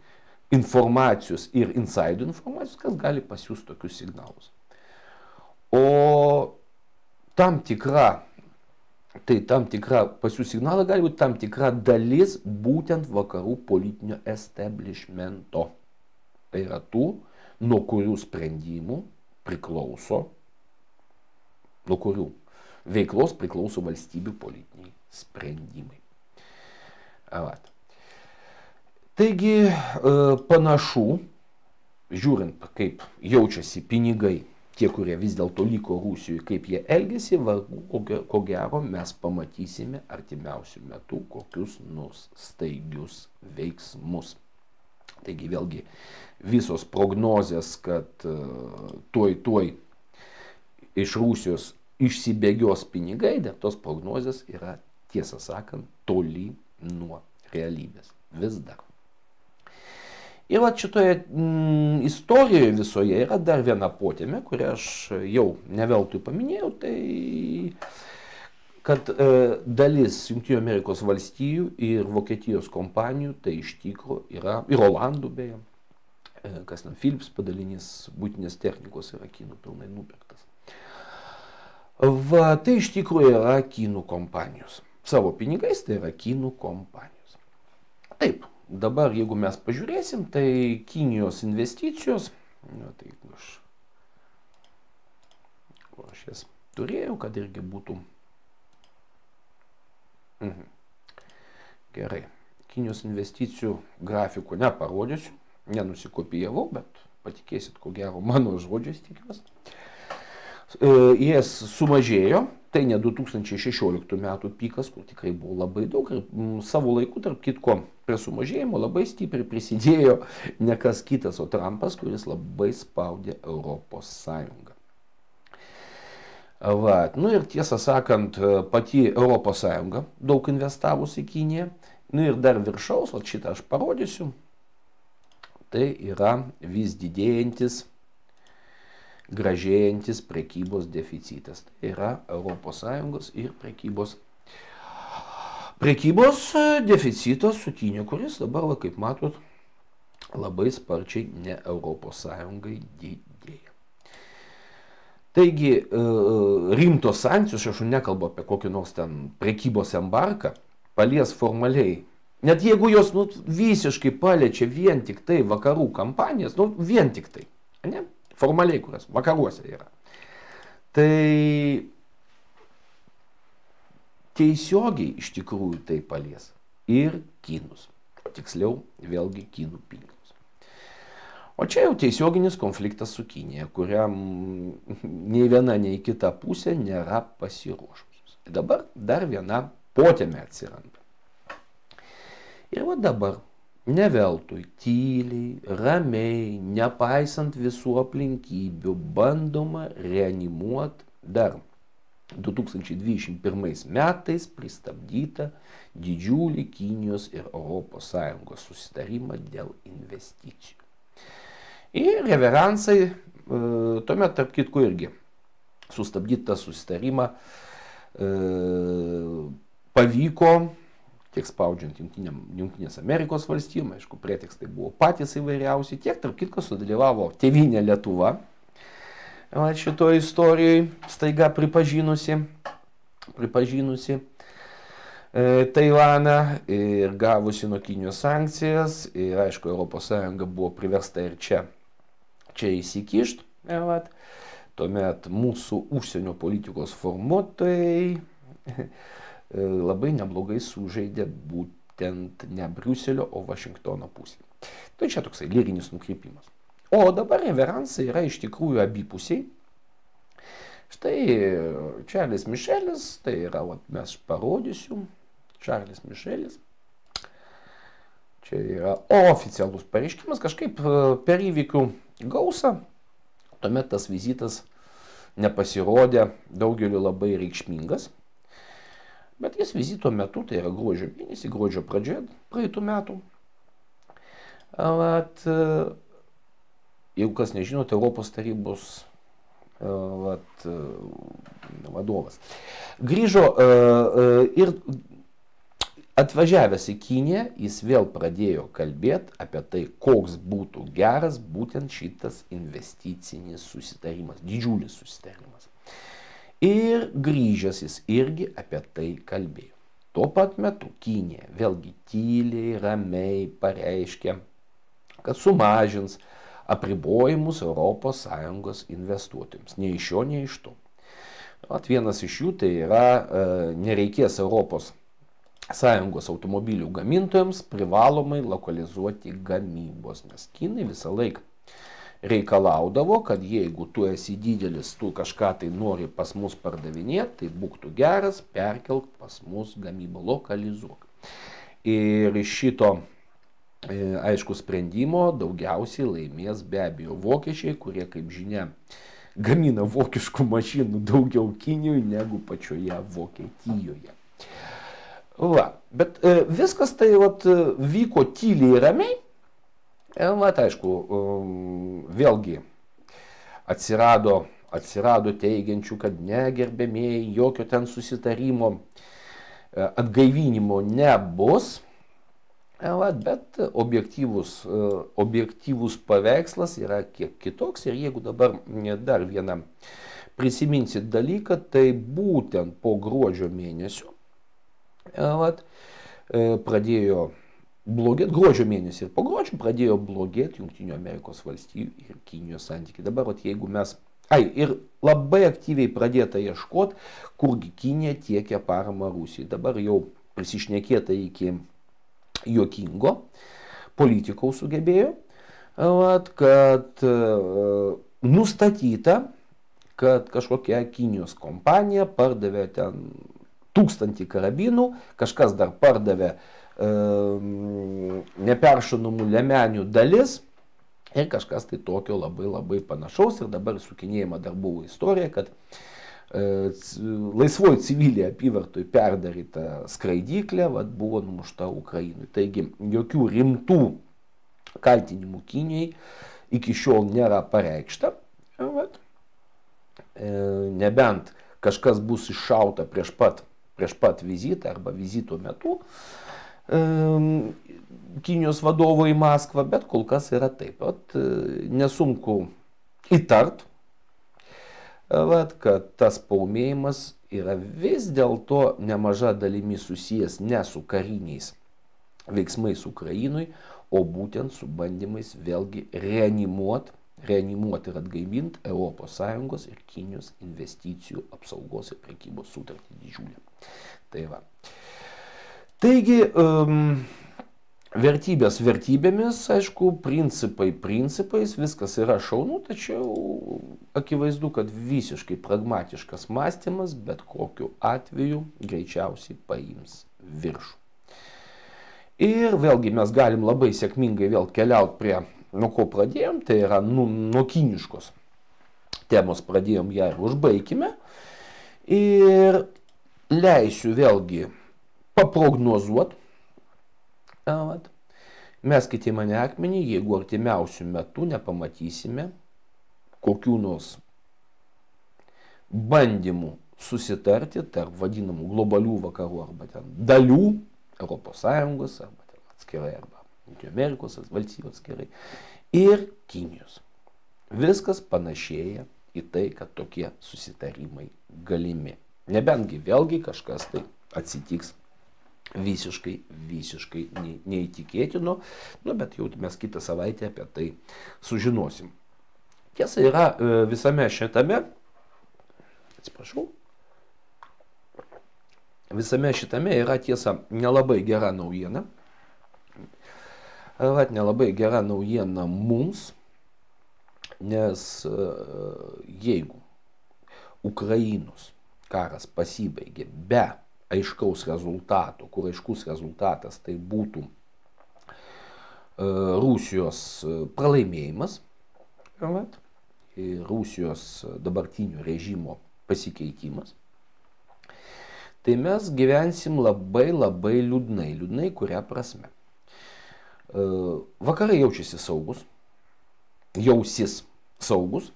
informacijos ir inside informacijos, kas gali pasiūsti tokius signalus. O tam tikra pasiūsti signalą gali būti tam tikra dalis būtent vakarų politinio establishmento. Tai yra tų, nuo kurių sprendimų priklauso, nuo kurių veiklos priklauso valstybių politiniai sprendimai. Taigi panašu, žiūrint, kaip jaučiasi pinigai, tie, kurie vis dėlto liko Rusijoje, kaip jie elgesi, ko gero mes pamatysime artimiausių metų kokius nors staigius veiksmus. Taigi vėlgi visos prognozės, kad tuoj iš Rusijos išsibėgios pinigai, bet tos prognozės yra, tiesą sakant, toli nuo realybės. Vis dar. Ir šitoje istorijoje visoje yra dar viena potėmė, kurią aš jau neveltui paminėjau, tai kad dalis Jungtinių Amerikos valstijų ir Vokietijos kompanijų, tai iš tikro yra, ir Olandų beje, kas ten Philips padalinys būtinės technikos yra kinų pilnai nupirktas. Tai iš tikro yra kinų kompanijos. Savo pinigais tai yra kinų kompanijos. Taip, dabar jeigu mes pažiūrėsim, tai Kinijos investicijos, tai aš jas turėjau, kad irgi būtų. Gerai, Kinijos investicijų grafikų neparodysiu, nenusikopijavau, bet patikėsit, ko gero, mano žodžiais tikiuosi. Jas sumažėjo, tai ne 2016 metų pikas, kur tikrai buvo labai daug ir savo laiku, tarp kitko, prie sumažėjimo labai stipriai prisidėjo ne kas kitas, o Trumpas, kuris labai spaudė Europos Sąjungą. Ir tiesą sakant, pati Europos Sąjunga daug investavusi į Kiniją. Ir dar viršaus, šitą aš parodysiu, tai yra vis didėjantis, gražėjantis prekybos deficitas. Tai yra Europos Sąjungos ir prekybos deficitas su Kinija, kuris dabar, kaip matot, labai sparčiai ne Europos Sąjungai didėja. Taigi rimtos sankcijos, aš nekalbu apie kokį nors ten prekybos embarką, palies formaliai. Net jeigu jos visiškai paliečia vien tik tai vakarų kompanijas, vien tik tai, ne? Formaliai, kurias vakaruose yra. Tai tiesiogiai iš tikrųjų tai palies ir kinus. Tiksliau, vėlgi kinų pinigus. O čia jau tiesioginis konfliktas su Kinija, kuriam nei viena, nei kita pusė nėra pasiruošusios. Dabar dar viena potėmė atsiranda. Ir dabar ne veltui tyliai, ramiai, nepaisant visų aplinkybių, bandoma reanimuoti dar 2021 metais pristabdytą didžiulį Kinijos ir Europos Sąjungos susitarimą dėl investicijų. Ir reveransai, tuomet tarp kitko irgi sustabdytą susitarimą pavyko, tiek spaudžiant Jungtinės Amerikos valstijom, aišku, pretekstai buvo patys įvairiausi, tiek tarp kitko sudalyvavo tėvynė Lietuva šitoje istorijoje, staiga pripažinusi Taivaną ir gavusi nuo Kinijos sankcijas ir aišku, ES buvo priversta ir čia įsikišti. Tuomet mūsų užsienio politikos formuotojai labai neblogai sužaidė būtent ne Briuselio, o Vašingtono pusėje. Tai čia toksai lyrinis nukrypimas. O dabar reveransai yra iš tikrųjų abipusiai. Štai Čarlis Mišelis, tai yra, mes parodysiu, Čarlis Mišelis. Čia yra oficialus pareiškimas, kažkaip per įvykių gausą. Tuomet tas vizitas nepasirodė daugeliu labai reikšmingas. Bet jis vizito metu, tai yra gruodžio mėnesį, gruodžio pradžioje praeitų metų. Jeigu kas nežinote, Europos tarybos vadovas grįžo ir atvažiavęs į Kiniją, jis vėl pradėjo kalbėti apie tai, koks būtų geras būtent šitas investicinis susitarimas, didžiulis susitarimas. Ir grįžęs jis irgi apie tai kalbėjo. Tuo pat metu Kinija vėlgi tyliai, ramiai pareiškė, kad sumažins apribojimus ES investuotojams. Nei iš jo, nei iš to. Vienas iš jų tai yra nereikės ES automobilių gamintojams privalomai lokalizuoti gamybos, nes kinai visą laiką reikalaudavo, kad jeigu tu esi didelis, tu kažką tai nori pas mus pardavinėti, tai būk tu geras, perkelk pas mus gamybą, lokalizuok. Ir iš šito aišku sprendimo daugiausiai laimės be abejo vokiečiai, kurie, kaip žinia, gamina vokiškų mašinų daugiau Kinijoje negu pačioje Vokietijoje. Bet viskas tai vyko tyliai ir ramiai. Aišku, vėlgi atsirado teigiančių, kad negerbėmėjai, jokio ten susitarimo atgaivinimo nebus. Bet objektyvus paveikslas yra kiek kitoks. Ir jeigu dabar dar vieną prisiminsit dalyką, tai būtent po gruodžio mėnesio pradėjo blogėti, gruodžio mėnesį ir po gruodžio pradėjo blogėti Jungtinių Amerikos valstijų ir Kinijos santykiai. Dabar jeigu mes, ir labai aktyviai pradėta ieškoti, kurgi Kinija tiekia paramą Rusijai. Dabar jau prisišnekėta iki juokingo, politikaus sugebėjo, kad nustatyta, kad kažkokia Kinijos kompanija pardavė ten 1000 karabinų, kažkas dar pardavė neperšaunamų liemenių dalis ir kažkas tai tokio labai panašaus. Ir dabar sukinėjama dar buvo istorija, kad laisvoji civilė apyvartoj perdaryta skraidyklė buvo numušta Ukrainui. Taigi jokių rimtų kaltinimų Kinijai iki šiol nėra pareikšta. Nebent kažkas bus iššauta prieš pat vizitą arba vizito metu Kinijos vadovo į Maskvą, bet kol kas yra taip. Nesunku įtart, kad tas paūmėjimas yra vis dėlto nemaža dalimi susijęs ne su kariniais veiksmais Ukrainui, o būtent su bandymais vėlgi reanimuoti ir atgaivinti ES ir Kinijos investicijų apsaugos ir prekybos sutartį didžiulę. Taigi, vertybės vertybėmis, aišku, principai principais, viskas yra šaunu, tačiau akivaizdu, kad visiškai pragmatiškas mąstymas bet kokiu atveju greičiausiai paims viršų. Ir vėlgi mes galim labai sėkmingai vėl keliauti prie, nuo ko pradėjom, tai yra nuo kiniškos temos pradėjom ją ir užbaigime. Ir leisiu vėlgi paprognozuoti. Meskite į mane akmenį, jeigu artimiausių metų nepamatysime kokių nors bandymų susitarti tarp vadinamų globalių vakarų arba ten dalių ES arba ten atskirai arba Jungtinių Amerikos valstybių atskirai ir Kinijos. Viskas panašėja į tai, kad tokie susitarimai galimi. Nebentgi vėlgi kažkas tai atsitiks visiškai neįtikėtino, nu, bet jau mes kitą savaitę apie tai sužinosim. Tiesa yra visame šitame, visame šitame yra tiesa nelabai gera naujiena. Nelabai gera naujiena mums, nes jeigu Ukrainos karas pasibaigė be aiškaus rezultato, kur aiškus rezultatas tai būtų Rusijos pralaimėjimas ir Rusijos dabartinio režimo pasikeitimas, tai mes gyvensim labai liūdnai, kuria prasme. Vakarai jaučiasi saugus, jausis saugus,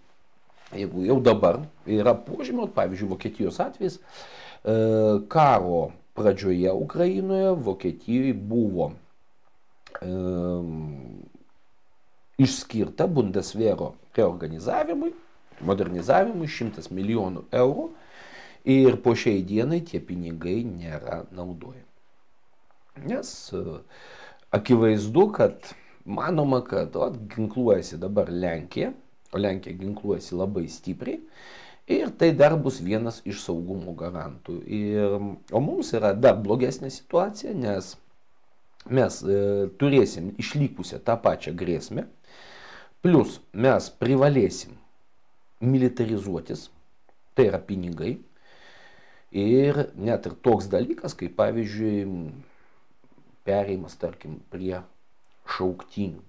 jeigu jau dabar yra požymių, pavyzdžiui, Vokietijos atvejais, karo pradžioje Ukrainoje Vokietijoje buvo išskirta Bundeswehro reorganizavimui, modernizavimui 100 milijonų eurų ir po šiai dienai tie pinigai nėra naudojami. Nes akivaizdu, kad manoma, kad ginkluojasi dabar Lenkija, o Lenkija ginkluojasi labai stipriai. Ir tai dar bus vienas iš saugumo garantų. O mums yra dar blogesnė situacija, nes mes turėsim išlikusią tą pačią grėsmę, plus mes privalėsim militarizuotis, tai yra pinigai, ir net ir toks dalykas, kaip pavyzdžiui, perėjimas, tarkim, prie šauktinių,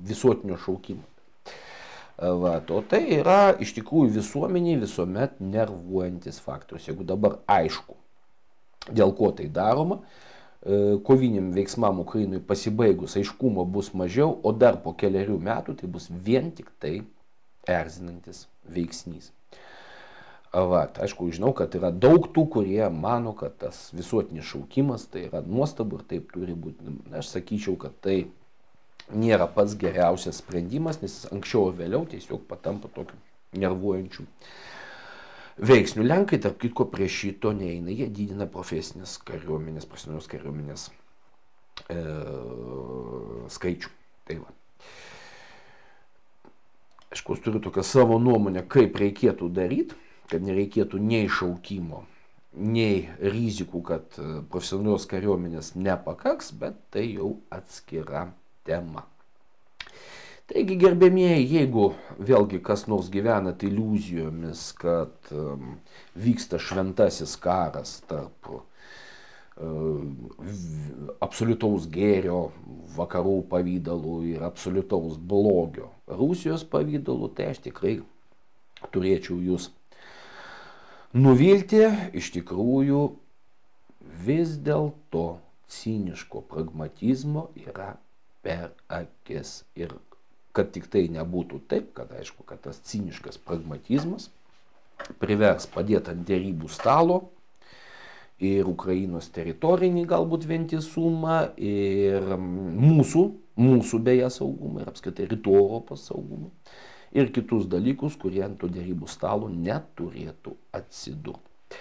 visuotinio šaukimo. O tai yra iš tikrųjų visuomeniai visuomet nervuojantis faktorius. Jeigu dabar aišku, dėl ko tai daroma, koviniam veiksmam Ukrainoje pasibaigus aiškumo bus mažiau, o dar po keliarių metų tai bus vien tik tai erzinantis veiksnys. Aišku, žinau, kad yra daug tų, kurie mano, kad tas visuotinis šaukimas tai yra nuostabu ir taip turi būti. Aš sakyčiau, kad tai nėra pats geriausias sprendimas, nes anksčiau ir vėliau tiesiog patampa tokiu nervuojančiu veiksniu. Lenkai, tarp kitko, prie šito neina, jie didina profesinės kariuomenės, profesionalios kariuomenės skaičių. Tai va. Aišku, aš turiu tokią savo nuomonę, kaip reikėtų daryti, kad nereikėtų nei šaukimo, nei rizikų, kad profesionalios kariuomenės nepakaks, bet tai jau atskira tema. Taigi, gerbėmieji, jeigu vėlgi kas nors gyvenat iliuzijomis, kad vyksta šventasis karas tarp absoliutaus gėrio vakarų pavydalų ir absoliutaus blogio Rusijos pavydalų, tai aš tikrai turėčiau jūs nuvilti. Iš tikrųjų, vis dėlto ciniško pragmatizmo yra per akis. Ir kad tik tai nebūtų taip, kad aišku, kad tas ciniškas pragmatizmas privers padėti ant derybų stalo ir Ukrainos teritorinį galbūt vientisumą, ir mūsų beje saugumą, ir apskritai rytų Europos saugumą, ir kitus dalykus, kurie ant to derybų stalo neturėtų atsidurti.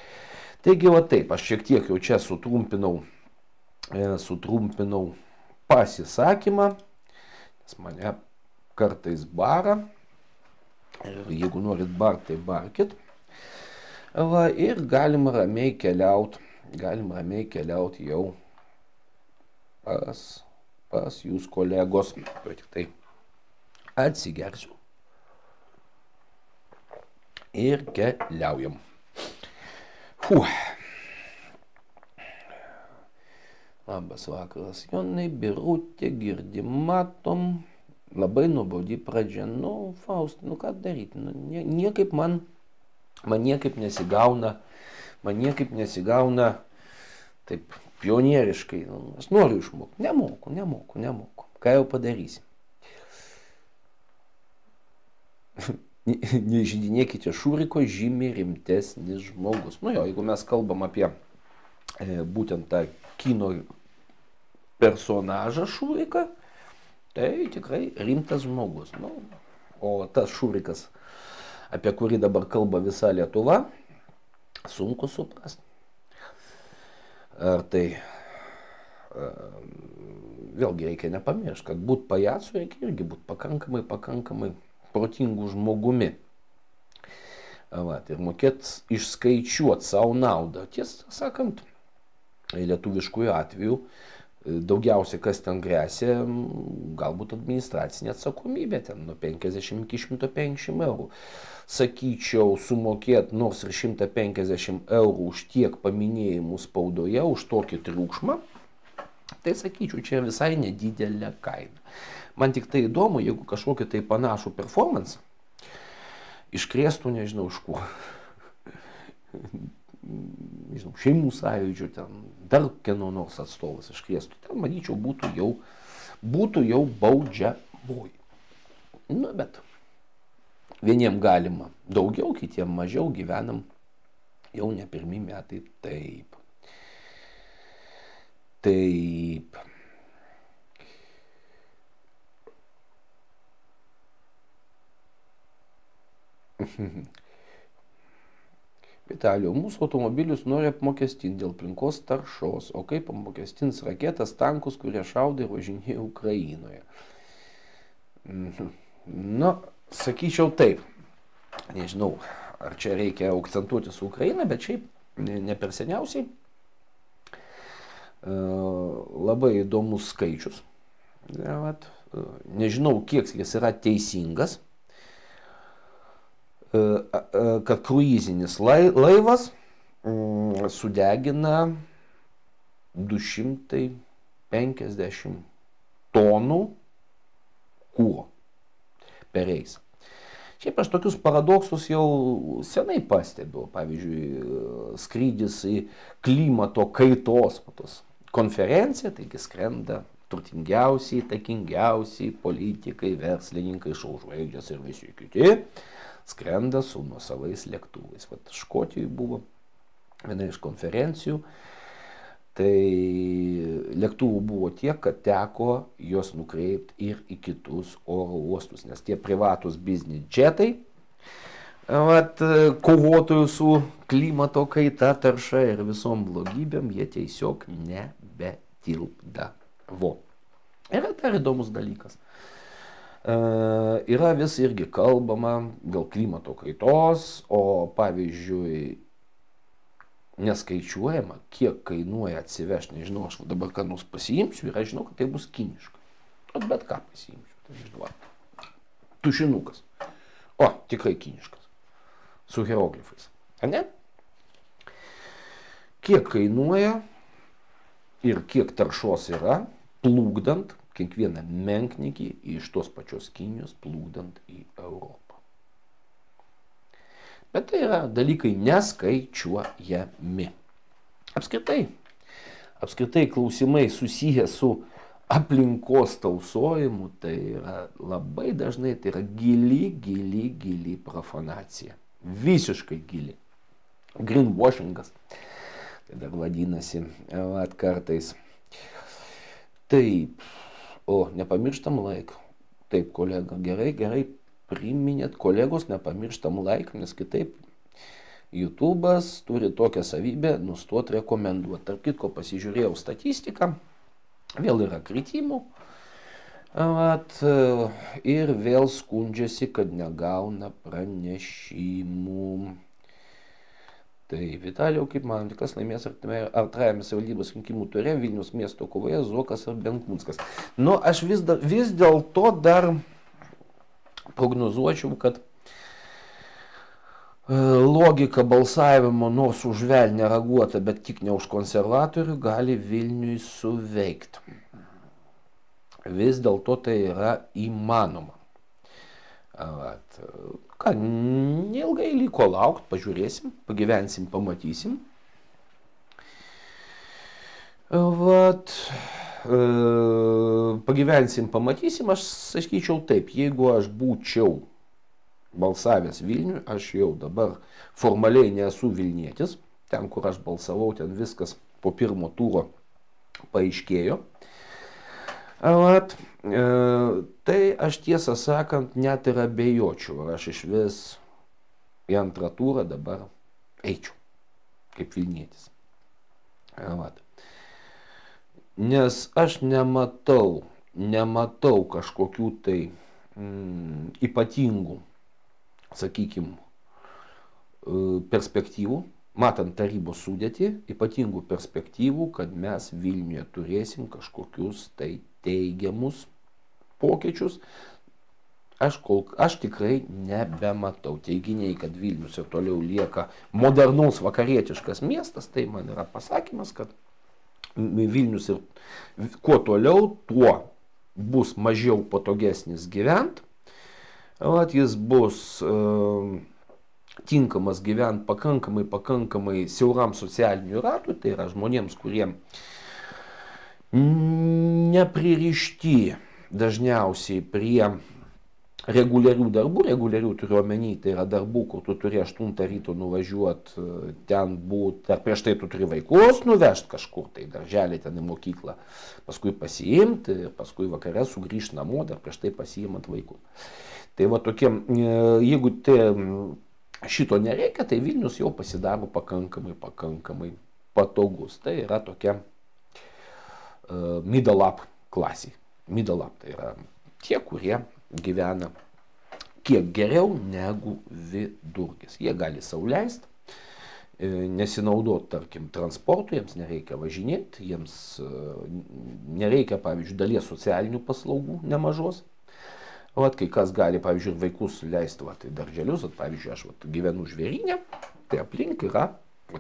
Taigi, va taip, aš šiek tiek jau čia sutrumpinau pasisakymą, nes mane kartais bara, ir jeigu norit bart, tai barkit. Ir galima ramiai keliauti jau pas jūs kolegos. Tik tai atsigersiu ir keliaujam. Labas vakaras, Jonai, Birutė, girdim, matom. Labai nuobodi pradžia. Nu, Faust, nu ką daryti? Nu, niekaip man niekaip nesigauna taip pionieriškai. Nu, aš noriu išmokti. Nemoku. Ką jau padarysim? Nežydinėkite Šuriko, žymiai rimtesnis žmogus. Nu jo, jeigu mes kalbam apie būtent tą kino personažą Šuriką, tai tikrai rimtas žmogus. Nu, o tas Šurikas, apie kurį dabar kalba visa Lietuva, sunku suprasti. Ar tai vėlgi reikia nepamiršti, kad būt pajacu reikia irgi būti pakankamai protingų žmogumi. Ir mokėt išskaičiuoti savo naudą. Tiesą sakant, lietuviškųjų atveju daugiausiai kas ten grėsia, galbūt administracinė atsakomybė, ten nuo 50 iki 150 eurų. Sakyčiau, sumokėt nors ir 150 eurų už tiek paminėjimų spaudoje, už tokį triukšmą, tai sakyčiau, čia visai nedidelė kaina. Man tik tai įdomu, jeigu kažkokį tai panašų performance iškrėstų, nežinau iš ko. Nežinau, šeimų sąjūdžių, ten dar kieno nors atstovas iškrėstų. Ten, manyčiau, būtų jau baudžiamoji. Nu, bet vieniem galima daugiau, kitiem mažiau, gyvenam jau ne pirmi metai taip. Taip. Vitalijau, mūsų automobilius nori apmokestinti dėl aplinkos taršos, o kaip apmokestins raketas, tankus, kurie šaudai ir važinėja Ukrainoje? Nu, sakyčiau taip. Nežinau, ar čia reikia akcentuoti su Ukraina, bet šiaip ne per seniausiai. Labai įdomus skaičius. Nežinau, kiek jis yra teisingas, kad kruizinis laivas sudegina 250 tonų kuro per reisą. Šiaip aš tokius paradoksus jau senai pastebiu. Pavyzdžiui, skrydis į klimato kaitos konferenciją, taigi skrenda turtingiausiai, įtakingiausiai politikai, verslininkai, šou žvaigždės ir visi kiti. Skrenda su nuosavais lėktuvais. Vat Škotijoje buvo viena iš konferencijų. Tai lėktuvų buvo tiek, kad teko juos nukreipti ir į kitus oro uostus, nes tie privatus biznis džetai, kovotojų su klimato kaita, tarša ir visom blogybėm, jie tiesiog nebetilpdavo. Yra dar įdomus dalykas. Yra vis irgi kalbama dėl klimato kaitos, o pavyzdžiui, neskaičiuojama, kiek kainuoja atsivežti. Nežinau, aš dabar ką nors pasiimsiu ir aš žinau, kad tai bus kiniška. Bet ką pasiimsiu, tai nežinau. Tušinukas. O, tikrai kiniškas. Su hieroglifais. A ne? Kiek kainuoja ir kiek taršos yra, plukdant kiekvieną menknikį iš tos pačios Kinijos, plukdant į Europą. Bet tai yra dalykai neskaičiuojami. Apskritai klausimai susiję su aplinkos tausojimu, tai yra labai dažnai, tai yra gili profanacija. Visiškai gili. Greenwashingas. Tai dar vadinasi kartais. Taip. O, nepamirštam laiką. Taip, kolega, gerai. Priminėt, kolegos, nepamirštam laiką, nes kitaip YouTube'as turi tokią savybę nustoti rekomenduoti. Tarp kitko pasižiūrėjau statistiką, vėl yra kritimų ir vėl skundžiasi, kad negauna pranešimų. Tai Vitalijau, kaip manote, kas laimės antrajame savivaldybės rinkimų ture Vilniaus miesto kovoje, Zuokas ar Benkunskas? Nu, aš vis dėlto dar prognozuočiau, kad logika balsavimo nors už velnę raguota, bet tik ne už konservatorių, gali Vilniui suveikti. Vis dėlto tai yra įmanoma. Ką, neilgai liko laukti, pažiūrėsim, pagyvensim, pamatysim. Pagyvensim, pamatysim, aš sakyčiau taip, jeigu aš būčiau balsavęs Vilniui, aš jau dabar formaliai nesu Vilnietis, ten kur aš balsavau, ten viskas po pirmo turo paaiškėjo. Tai aš tiesą sakant net ir abejočiau, ar aš iš vis į antrą turą dabar eičiau kaip Vilnietis. Nes aš nematau kažkokių tai ypatingų, sakykime, perspektyvų, matant tarybos sudėtį, ypatingų perspektyvų, kad mes Vilniuje turėsim kažkokius tai teigiamus pokyčius. Aš tikrai nebematau. Teiginiai, kad Vilnius ir toliau lieka modernus vakarietiškas miestas, tai man yra pasakymas, kad Vilnius ir kuo toliau, tuo bus mažiau patogesnis gyvent. Jis bus tinkamas gyvent pakankamai siauram socialinių ratų, tai yra žmonėms, kurie nepririšti dažniausiai prie reguliarių darbų, reguliarių turiu omeny, tai yra darbų, kur tu turi 8 ryto nuvažiuoti, ten būti, ar prieš tai tu turi vaikus nuvežti kažkur, tai darželį ten į mokyklą, paskui pasiimti, paskui vakare sugrįžti namo, dar prieš tai pasiimant vaikus. Tai va tokie, jeigu šito nereikia, tai Vilnius jau pasidaro pakankamai patogus. Tai yra tokia middle up klasė. Middle up tai yra tie, kurie gyvena kiek geriau negu vidurkis. Jie gali sau leisti, nesinaudoti, tarkim, transportu, jiems nereikia važinėti, jiems nereikia, pavyzdžiui, dalies socialinių paslaugų nemažos. Kai kas gali, pavyzdžiui, vaikus leisti į darželius, pavyzdžiui, aš gyvenu Žvėryne, tai aplink yra,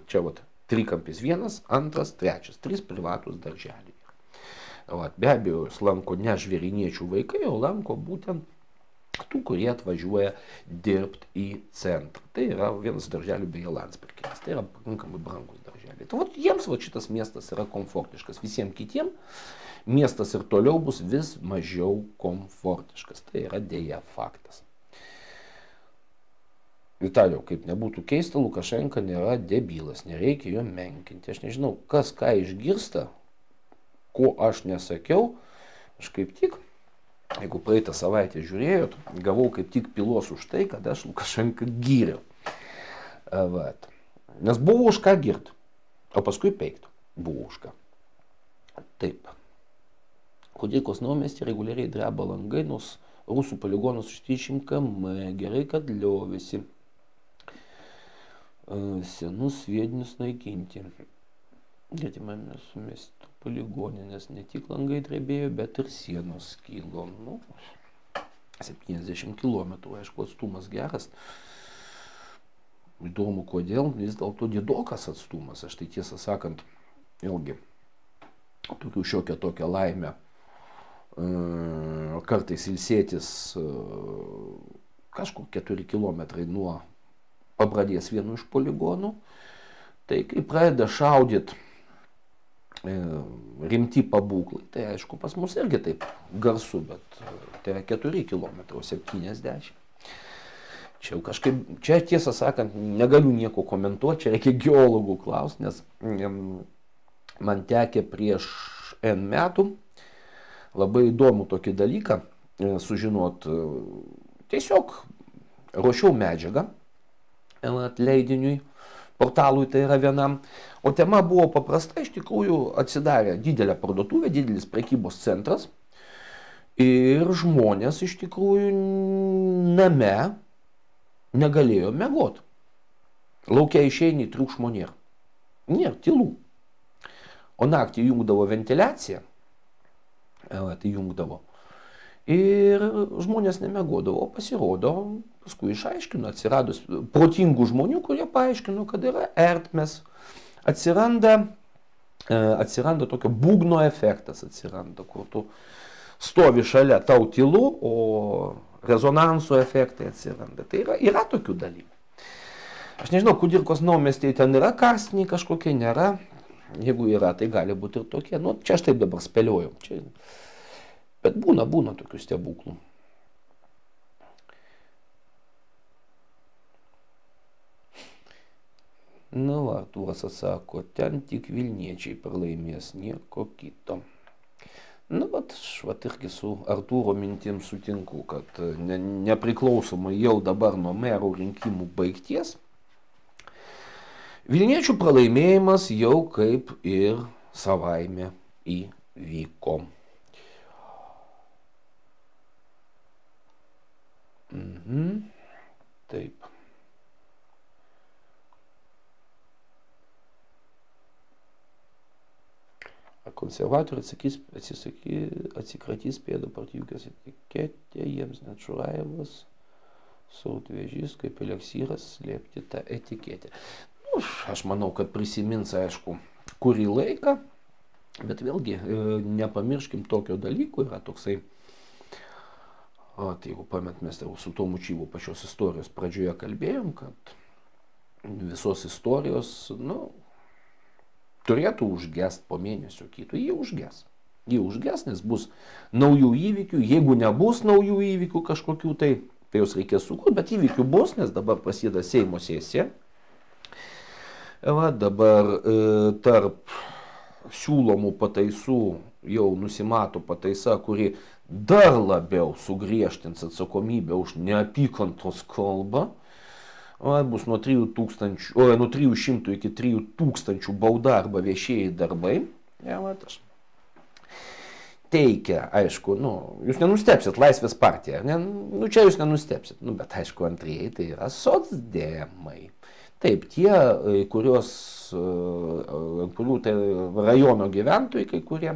čia trikampis 1, 2, 3, 3 privatus darželiai. Be abejo, jis lanko ne žvėriniečių vaikai, o lanko būtent tų, kurie atvažiuoja dirbti į centrą. Tai yra vienas darželių beje Landsbergis. Tai yra pakankamai brangus darželiai. Tai jiems šitas miestas yra komfortiškas. Visiems kitiems miestas ir toliau bus vis mažiau komfortiškas. Tai yra dėja faktas. Vitalijau, kaip nebūtų keista, Lukašenka nėra debilas, nereikia jo menkinti. Aš nežinau, kas ką išgirsta, ko aš nesakiau, aš kaip tik, jeigu praeitą savaitę žiūrėjot, gavau kaip tik pylos už tai, kad aš Lukašenką gyriau. Nes buvo už ką girt, o paskui peiktų. Buvo už ką. Taip. Kudirkos naumiestį reguliariai dreba langai, nors rusų poligonas už 30 km. Gerai, kad liovėsi senus sviedinius naikinti. Getimame sumesti poligonė, nes ne tik langai drebėjo, bet ir sienos skilo. 70 km, aišku, atstumas geras. Įdomu, kodėl, vis dėlto didokas atstumas. Aš tai tiesą sakant, vėlgi, tokių šiokią tokią laimę kartais ilsėtis kažkur 4 km nuo Pabradės vienu iš poligonų. Tai kai pradeda šaudyti rimti pabūklai, tai aišku, pas mus irgi taip garsu, bet tai yra 4 km, 70. Čia jau kažkaip, čia tiesą sakant, negaliu nieko komentuoti, čia reikia geologų klausti, nes man tekė prieš N metų labai įdomų tokį dalyką sužinot. Tiesiog ruošiau medžiagą leidiniui, portalui tai yra vienam. O tema buvo paprasta, iš tikrųjų atsidarė didelė parduotuvė, didelis prekybos centras ir žmonės iš tikrųjų name negalėjo miegot. Laukia išeini, triukšmo nėra. Nėra, tylų. O naktį jungdavo ventiliaciją, tai jungdavo. Ir žmonės nemiegodavo, pasirodo, paskui išaiškino, atsiradus protingų žmonių, kurie paaiškino, kad yra ertmės. Atsiranda tokio būgno efektas, kur tu stovi šalia, tau tylu, o rezonanso efektai atsiranda. Tai yra tokių dalykų. Aš nežinau, Kudirkos naumiestėje ten yra karstiniai kažkokie, nėra. Jeigu yra, tai gali būti ir tokie. Čia aš taip dabar spėliojau. Bet būna tokių stebuklų. Artūras atsako, ten tik Vilniečiai pralaimės, nieko kito. Irgi su Artūro mintim sutinku, kad nepriklausomai jau dabar nuo merų rinkimų baigties, Vilniečių pralaimėjimas jau kaip ir savaime vyko. Taip. Konservatoriai atsikratys pėdų partijukės etiketė, jiems net Šurajevas sautvežys kaip eleksyras slėpti tą etiketę. Aš manau, kad prisimins, aišku, kurį laiką, bet vėlgi nepamirškim tokio dalyko, yra toksai, jeigu pamet, mes su Tomu Čyvu pačios istorijos pradžioje kalbėjom, kad visos istorijos, turėtų užgest po mėnesio kito, jie užges. Jie užges, nes bus naujų įvykių, jeigu nebus naujų įvykių kažkokių, tai jos reikės sukurti, bet įvykių bus, nes dabar prasideda Seimo sesija. Dabar tarp siūlomų pataisų jau nusimato pataisa, kuri dar labiau sugriežtins atsakomybę už neapykantos kalbą. Bus nuo 300 iki 3000 bauda arba viešieji darbai. Teikia, aišku, jūs nenustepsit, Laisvės partija, čia jūs nenustepsit, bet aišku, antrieji tai yra socdemai. Taip, tie, kurių tai rajono gyventojai, kai kurie,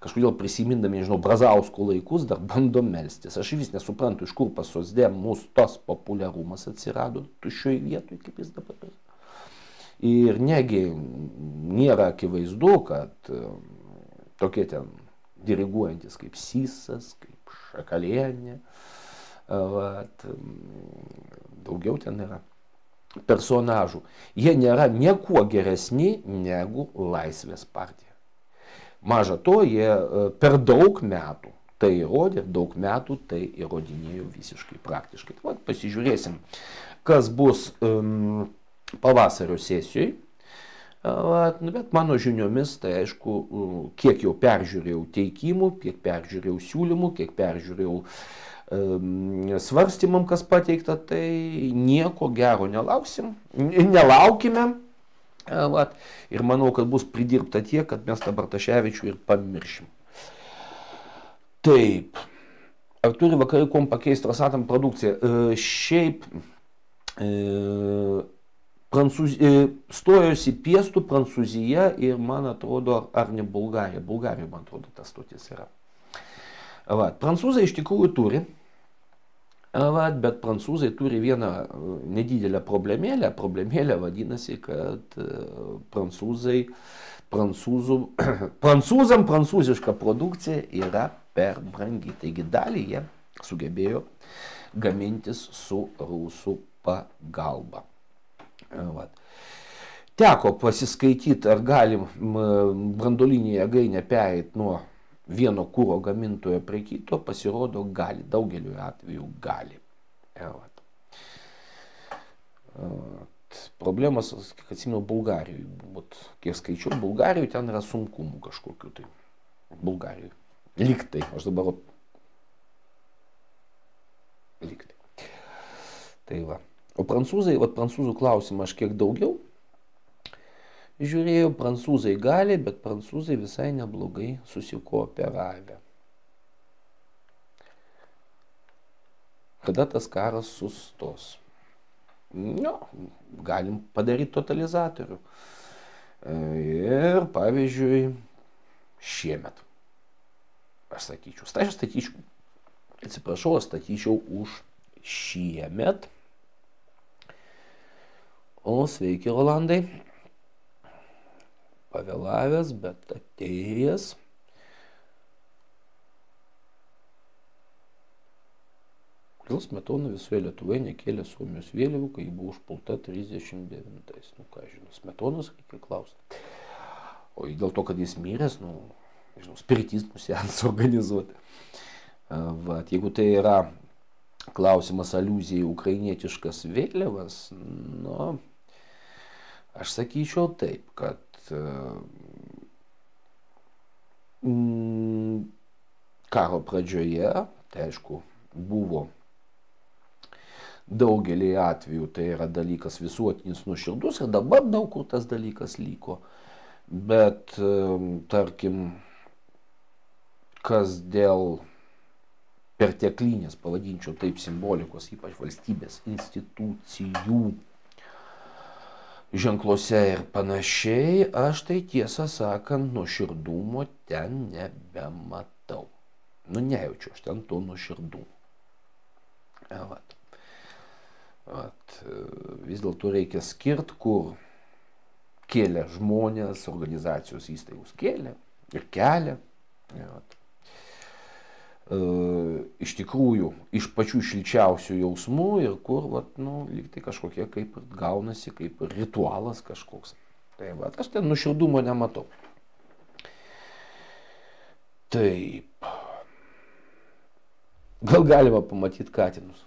kažkodėl prisimindami, nežinau, Brazausko laikus, dar bando melstis. Aš vis nesuprantu, iš kur pas socdemus tas populiarumas atsirado tuščioj vietoj, kaip jis dabar. Ir negi nėra akivaizdu, kad tokie ten diriguojantis kaip Sysas, kaip Šakalienė, daugiau ten yra personažų. Jie nėra niekuo geresni negu Laisvės partija. Maža to, jie per daug metų tai įrodė, daug metų tai įrodinėjo visiškai praktiškai. Pasižiūrėsim, kas bus pavasario sesijoje. Bet mano žiniomis, tai aišku, kiek jau peržiūrėjau teikimų, kiek peržiūrėjau siūlymų, kiek peržiūrėjau svarstymam, kas pateikta, tai nieko gero nelaukime. Ir manau, kad bus pridirbta tiek, kad mes tą Bartaševičių ir pamiršim. Taip. Ar turi vakarai kuom pakeisti Rosatom produkciją? Šiaip stojosi Piestų Prancūzija ir, man atrodo, ar ne Bulgarija. Bulgarija, man atrodo, tas stotis yra. Prancūzai iš tikrųjų turi. Bet prancūzai turi vieną nedidelę problemėlę. Problemėlė vadinasi, kad prancūzam prancūziška produkcija yra per brangi. Taigi dalį jie sugebėjo gamintis su rusų pagalba. Teko pasiskaityti, ar galim branduolinį jėgainę pereiti nuo vieno kuro gamintojo prie kito, pasirodo gali, daugeliu atveju gali. Problemas, kiek atsimenu, Bulgarijoje. Kiek skaičiau, Bulgarijoje ten yra sunkumų kažkokiu tai. Bulgarijoje. Liktai. Aš dabar liktai. Tai va. O prancūzai, prancūzų klausimą aš kiek daugiau žiūrėjau, prancūzai gali, bet prancūzai visai neblogai susikooperavę. Kada tas karas sustos? Galim padaryti totalizatorių. Ir, pavyzdžiui, šiemet. Aš statyčiau už šiemet. O sveiki, Rolandai. Pavėlavęs, bet atėjęs. Kodėl Smetona visoje Lietuvoje nekėlė Suomijos vėliavų, kai buvo užpulta 39-ais? Ką žinau, Smetonos reikia klausti. O dėl to, kad jis miręs, spiritizmų seansą organizuoti. Jeigu tai yra klausimas aliuzija į ukrainietiškas vėliavas, aš sakyčiau taip, kad karo pradžioje, tai aišku, buvo daugelį atvejų, tai yra dalykas visuotinis nuoširdus ir dabar daug kur tas dalykas liko. Bet, tarkim, kas dėl perteklinės, pavadinčiau taip, simbolikos, ypač valstybės institucijų ženkluose ir panašiai, aš tai tiesą sakant nuoširdumo ten nebematau. Nu, nejaučiu aš ten to nuoširdumo. Vis dėlto reikia skirti, kur kėlė žmonės, organizacijos įstaigos kėlė ir kelia. Iš tikrųjų, iš pačių šilčiausių jausmų ir kur, lyg tai kažkokie kaip gaunasi, kaip ritualas kažkoks. Tai aš ten nuoširdumo nematau. Taip. Gal galima pamatyti katinus.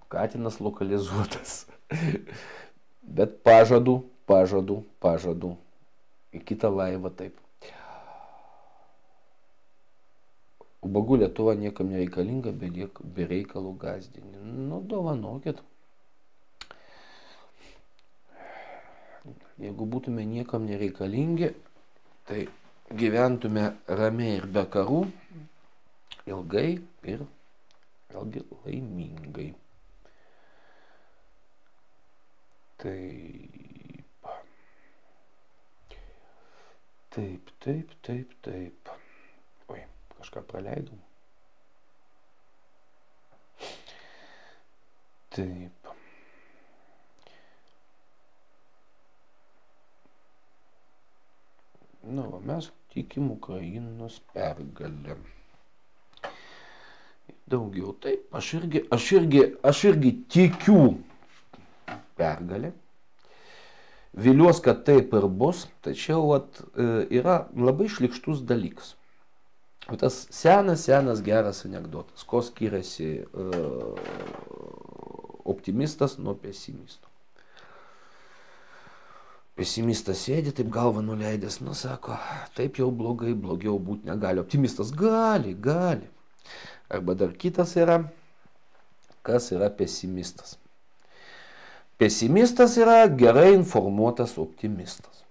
Katinas lokalizuotas. Bet pažadu. Į kitą laivą taip. Ubagų Lietuva niekam nereikalinga, be reikalų gąsdini. Nu, dovanokit. Jeigu būtume niekam nereikalingi, tai gyventume ramiai ir be karų, ilgai ir vėlgi laimingai. Taip. Oi, kažką praleidau. Taip. Nu, mes tikim Ukrainos pergalę. Daugiau taip, aš irgi tikiu pergalę. Viliuos, kad taip ir bus, tačiau yra labai šlykštus dalykas. Tas senas geras anekdotas, ko skiriasi optimistas nuo pesimisto. Pesimistas sėdi, taip galvą nuleidęs, sako, taip jau blogai, blogiau būti negali. Optimistas gali. Arba dar kitas yra, kas yra pesimistas. Pesimistas yra gerai informuotas optimistas.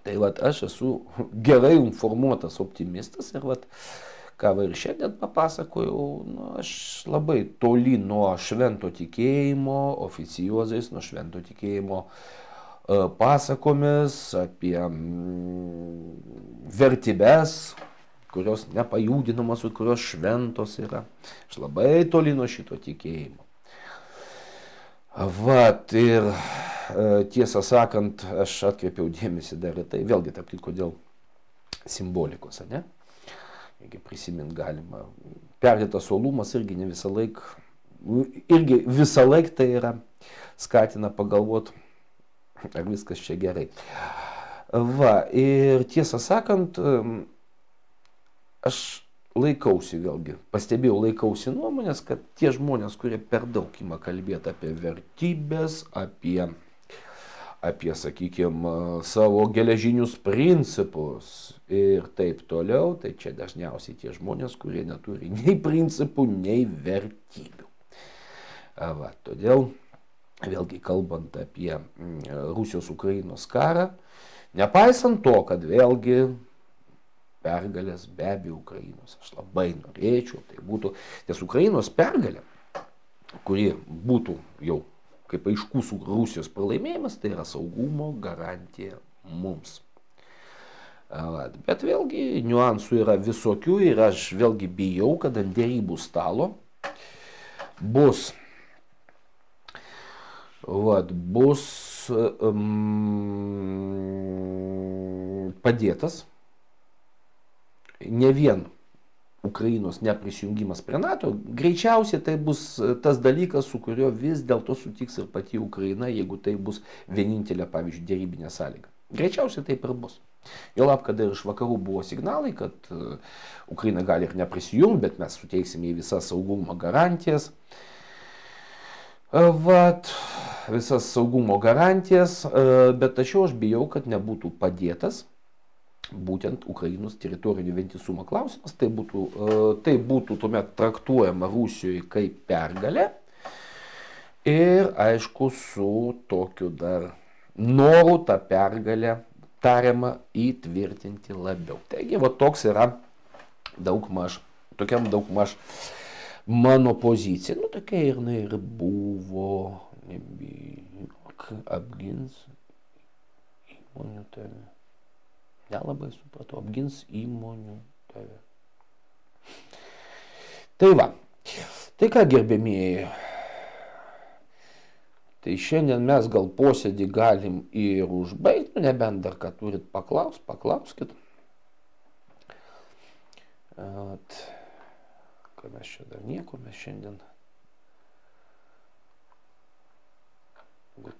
Tai aš esu gerai informuotas optimistas ir ką ir šiandien papasakojau, aš labai toli nuo švento tikėjimo, oficiozais, nuo švento tikėjimo pasakomis apie vertybes, kurios nepajudinamos ir kurios šventos yra. Aš labai toli nuo šito tikėjimo. Ir tiesą sakant, aš atkreipiau dėmesį dar į tai, vėlgi tarp kitko dėl simbolikos, ne? Jeigu prisimint galima, perdėtas uolumas irgi ne visą laik tai yra skatina pagalvoti, ar viskas čia gerai. Ir tiesą sakant, aš laikausi nuomonės, kad tie žmonės, kurie per daug ima kalbėti apie vertybės, apie, sakykime, savo geležinius principus ir taip toliau, tai čia dažniausiai tie žmonės, kurie neturi nei principų, nei vertybių. Todėl, vėlgi kalbant apie Rusijos-Ukrainos karą, nepaisant to, kad vėlgi pergalės be abejo Ukrainos. Aš labai norėčiau, tai būtų, nes Ukrainos pergalė, kuri būtų jau kaip aiškus Rusijos pralaimėjimas, tai yra saugumo garantija mums. Bet vėlgi niuansų yra visokių ir aš vėlgi bijau, kad ant derybų stalo bus padėtas ne vien Ukrainos neprisijungimas prie NATO, greičiausiai tai bus tas dalykas, su kurio vis dėlto sutiks ir pati Ukraina, jeigu tai bus vienintelė, pavyzdžiui, derybinė sąlyga. Greičiausiai taip ir bus. Juolab, kad ir iš vakarų buvo signalai, kad Ukraina gali ir neprisijungti, bet mes suteiksime į visas saugumo garantijas. Visas saugumo garantijas, bet tačiau aš bijau, kad nebūtų padėtas būtent Ukrainos teritorinio vientisumo klausimas, tai būtų tuomet traktuojama Rusijoje kaip pergalė ir aišku su tokiu dar noru tą pergalę tariamą įtvirtinti labiau. Taigi toks yra tokiam daugmaž mano pozicija. Nu, tokia ir buvo, nebijok, apgins įmonių tave. Nelabai supratau, apgins įmonių tave. Tai va, tai ką gerbėmieji, tai šiandien mes gal posėdį galim ir užbaigti, nebent dar ką turit paklauskit. Ką mes čia dar nieko, mes šiandien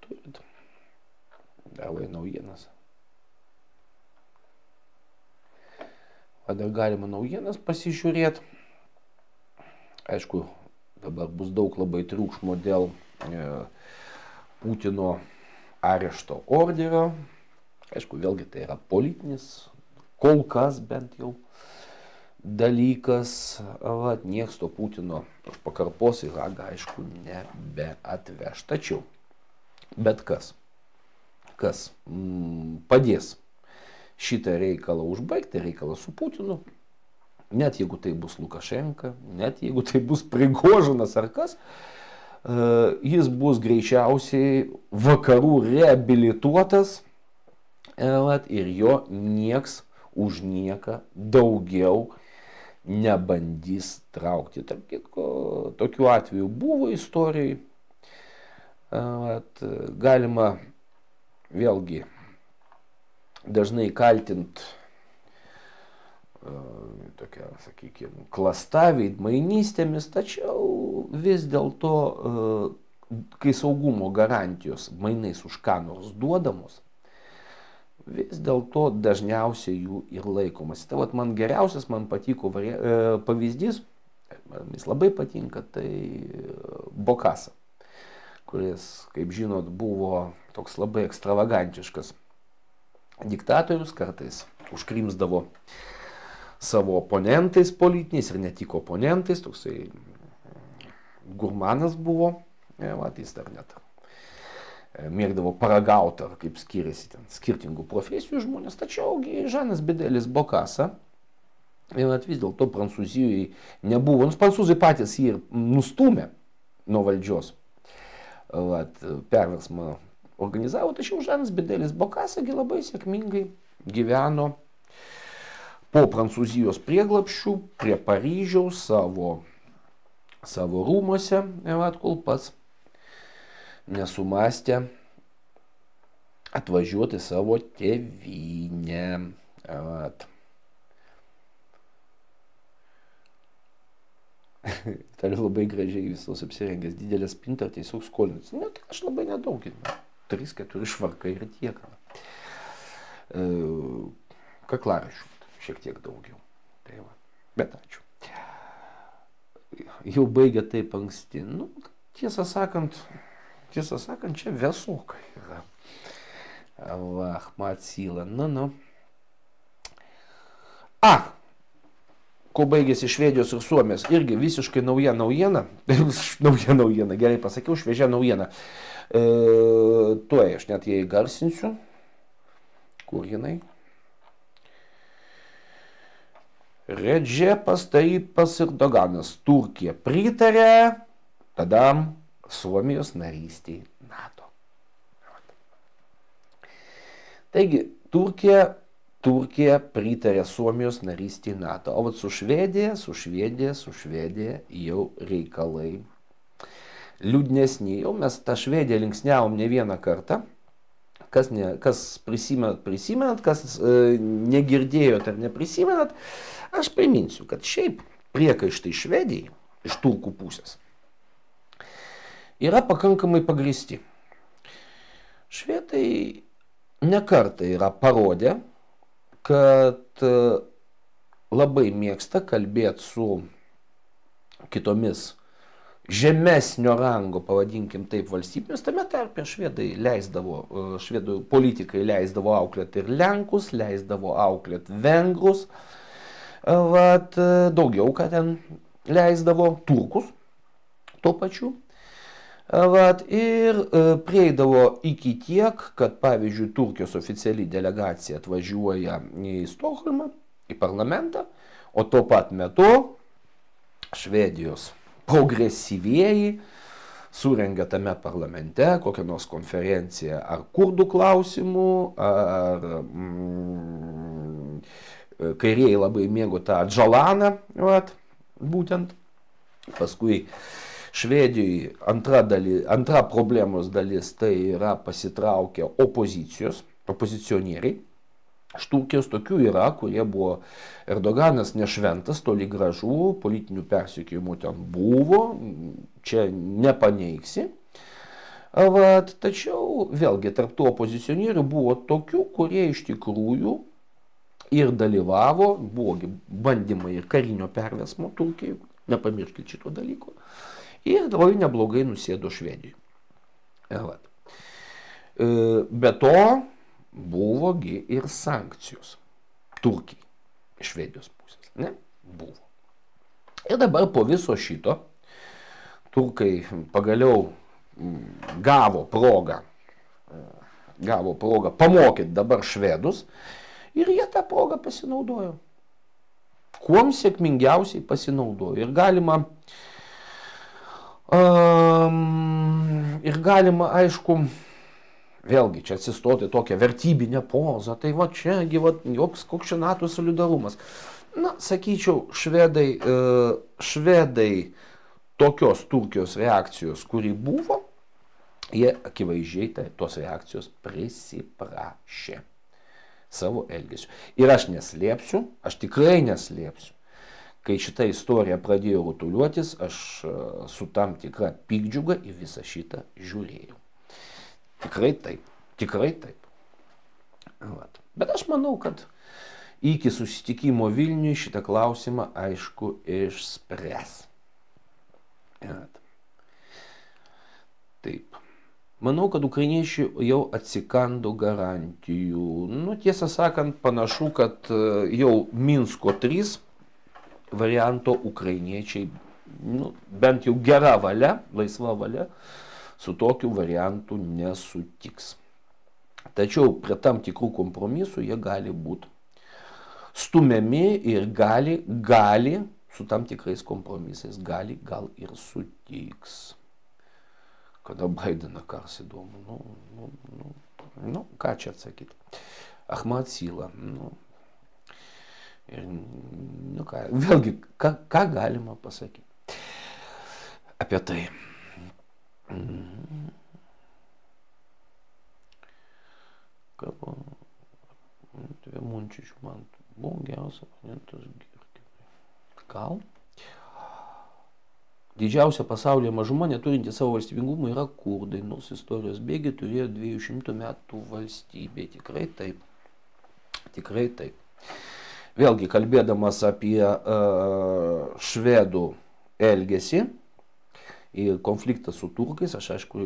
turit. Davai naujienas. Dar galima naujienas pasižiūrėti. Aišku, dabar bus daug labai triukšmo dėl Putino arešto orderio. Aišku, vėlgi tai yra politinis, kol kas bent jau dalykas. Nieks to Putino už pakarpos į ragą, aišku, nebeatveš. Tačiau, bet kas padės šitą reikalą užbaigti, reikalą su Putinu, net jeigu tai bus Lukašenka, net jeigu tai bus Prigožinas ar kas, jis bus greičiausiai vakarų reabilituotas ir jo nieks už nieką daugiau nebandys traukti. Tarp kitko, tokių atvejų buvo istorijai. Galima vėlgi dažnai kaltint tokia, sakykime, klasta, veidmainystėmis, tačiau vis dėlto, kai saugumo garantijos mainais už ką nors duodamos, vis dėlto dažniausiai jų ir laikomas. Tai vat man geriausias, man patiko pavyzdys, jis labai patinka, tai Bokassa, kuris, kaip žinot, buvo toks labai ekstravagantiškas diktatorius, kartais užkrimsdavo savo oponentais politiniais ir ne tik oponentais, toksai gurmanas buvo, jis dar net mėgdavo paragauti, kaip skiriasi ten skirtingų profesijų žmonės, tačiau Žanas Bidelis Bokassa, vis dėlto Prancūzijoje nebuvo, nes prancūzai patys jį ir nustūmė nuo valdžios, perversmą organizavo, tačiau Žanas Bidelis Bokassa labai sėkmingai gyveno po Prancūzijos prieglapščių prie Paryžiaus savo rūmuose, kol pats nesumastė atvažiuoti savo tėvynę. Tai labai gražiai visos apsirengęs, didelę spintą, tiesiog skolinis. Ne, tai aš labai nedaug, 3-4 švarkai ir tiek. Kaklaraščių šiek tiek daugiau. Tai va. Bet ačiū. Jau baigė taip anksti. Nu, tiesą sakant, čia vėsokai yra. Ahmad Syla. Nu. Ko baigėsi Švedijos ir Suomijos, irgi visiškai nauja naujiena. Nauja naujiena, gerai pasakiau, šviežia naujiena. Tuoj aš net ją įgarsinsiu. Kur jinai? Redžepas Tayyipas Erdoganas. Turkija pritarė tada Suomijos narystiai NATO. Taigi, Turkija pritarė Suomijos narystiai NATO. O vat su Švedija jau reikalai liūdnesni. Jau mes tą Švediją linksniavom ne vieną kartą. Kas prisimenat, kas negirdėjot ar neprisimenat, aš priminsiu, kad šiaip priekaištai Švedijai iš turkų pusės yra pakankamai pagristi. Švedai nekartą yra parodę, kad labai mėgsta kalbėti su kitomis žemesnio rango, pavadinkim taip, valstybėmis. Tame tarpe švedų politikai leisdavo auklėti ir Lenkus, leisdavo auklėti Vengrus, daugiau ką ten leisdavo Turkus, tuo pačiu. Ir prieidavo iki tiek, kad pavyzdžiui Turkijos oficiali delegacija atvažiuoja į Stokholmą, į parlamentą, O tuo pat metu Švedijos progresyvieji surengė tame parlamente kokią nors konferenciją ar kurdų klausimų, ar kairieji labai mėgo tą Džalaną, būtent. Paskui Švedijoje antra problemos dalis tai yra pasitraukę opozicionieriai. Iš Turkijos tokių yra, kurie buvo Erdoganas nešventas, toli gražu, politinių persekiojimų ten buvo, čia nepaneigsi. Tačiau vėlgi tarp tų opozicionierių buvo tokių, kurie iš tikrųjų ir dalyvavo, buvo bandymai ir karinio perversmo Turkijai, nepamirškit šito dalyko, ir labai neblogai nusėdo Švedijoje. Be to, buvogi ir sankcijos Turkijai iš Švedijos pusės. Ne? Buvo. Ir dabar po viso šito turkai pagaliau gavo progą pamokyti dabar švedus ir jie tą progą pasinaudojo. Kuom sėkmingiausiai pasinaudojo. Ir galima, aišku, vėlgi čia atsistoti tokią vertybinę pozą, tai va čiagi joks koks čia NATO solidarumas. Na, sakyčiau, švedai tokios Turkijos reakcijos, kuri buvo, jie akivaizdžiai tos reakcijos prisiprašė savo elgesiu. Ir aš neslėpsiu, aš tikrai neslėpsiu, kai šita istorija pradėjo rutuliuotis, aš su tam tikra pykdžiuga į visą šitą žiūrėjau. Tikrai taip, tikrai taip. Bet aš manau, kad iki susitikimo Vilniuje šitą klausimą aišku išspręs. Taip. Manau, kad ukrainiečiai jau atsikando garantijų. Nu, tiesą sakant, panašu, kad jau Minsko 3 varianto ukrainiečiai, bent jau gera valia, laisva valia, su tokiu variantu nesutiks. Tačiau prie tam tikrų kompromisų jie gali būti stumiami ir gali su tam tikrais kompromisais, gal ir sutiks. Kada Baideną kars įdomu, ką čia atsakyti. Ahmad Sila, vėlgi, ką galima pasakyti apie tai. Munčičių man buvo geriausias oponentas Girkinai. Gal? Didžiausia pasaulyje mažuma neturinti savo valstybingumo yra kurdai, nors istorijos bėgi turėjo 200 metų valstybė. Tikrai taip. Tikrai taip. Vėlgi, kalbėdamas apie švedų elgesį ir konfliktą su turkais, aš aišku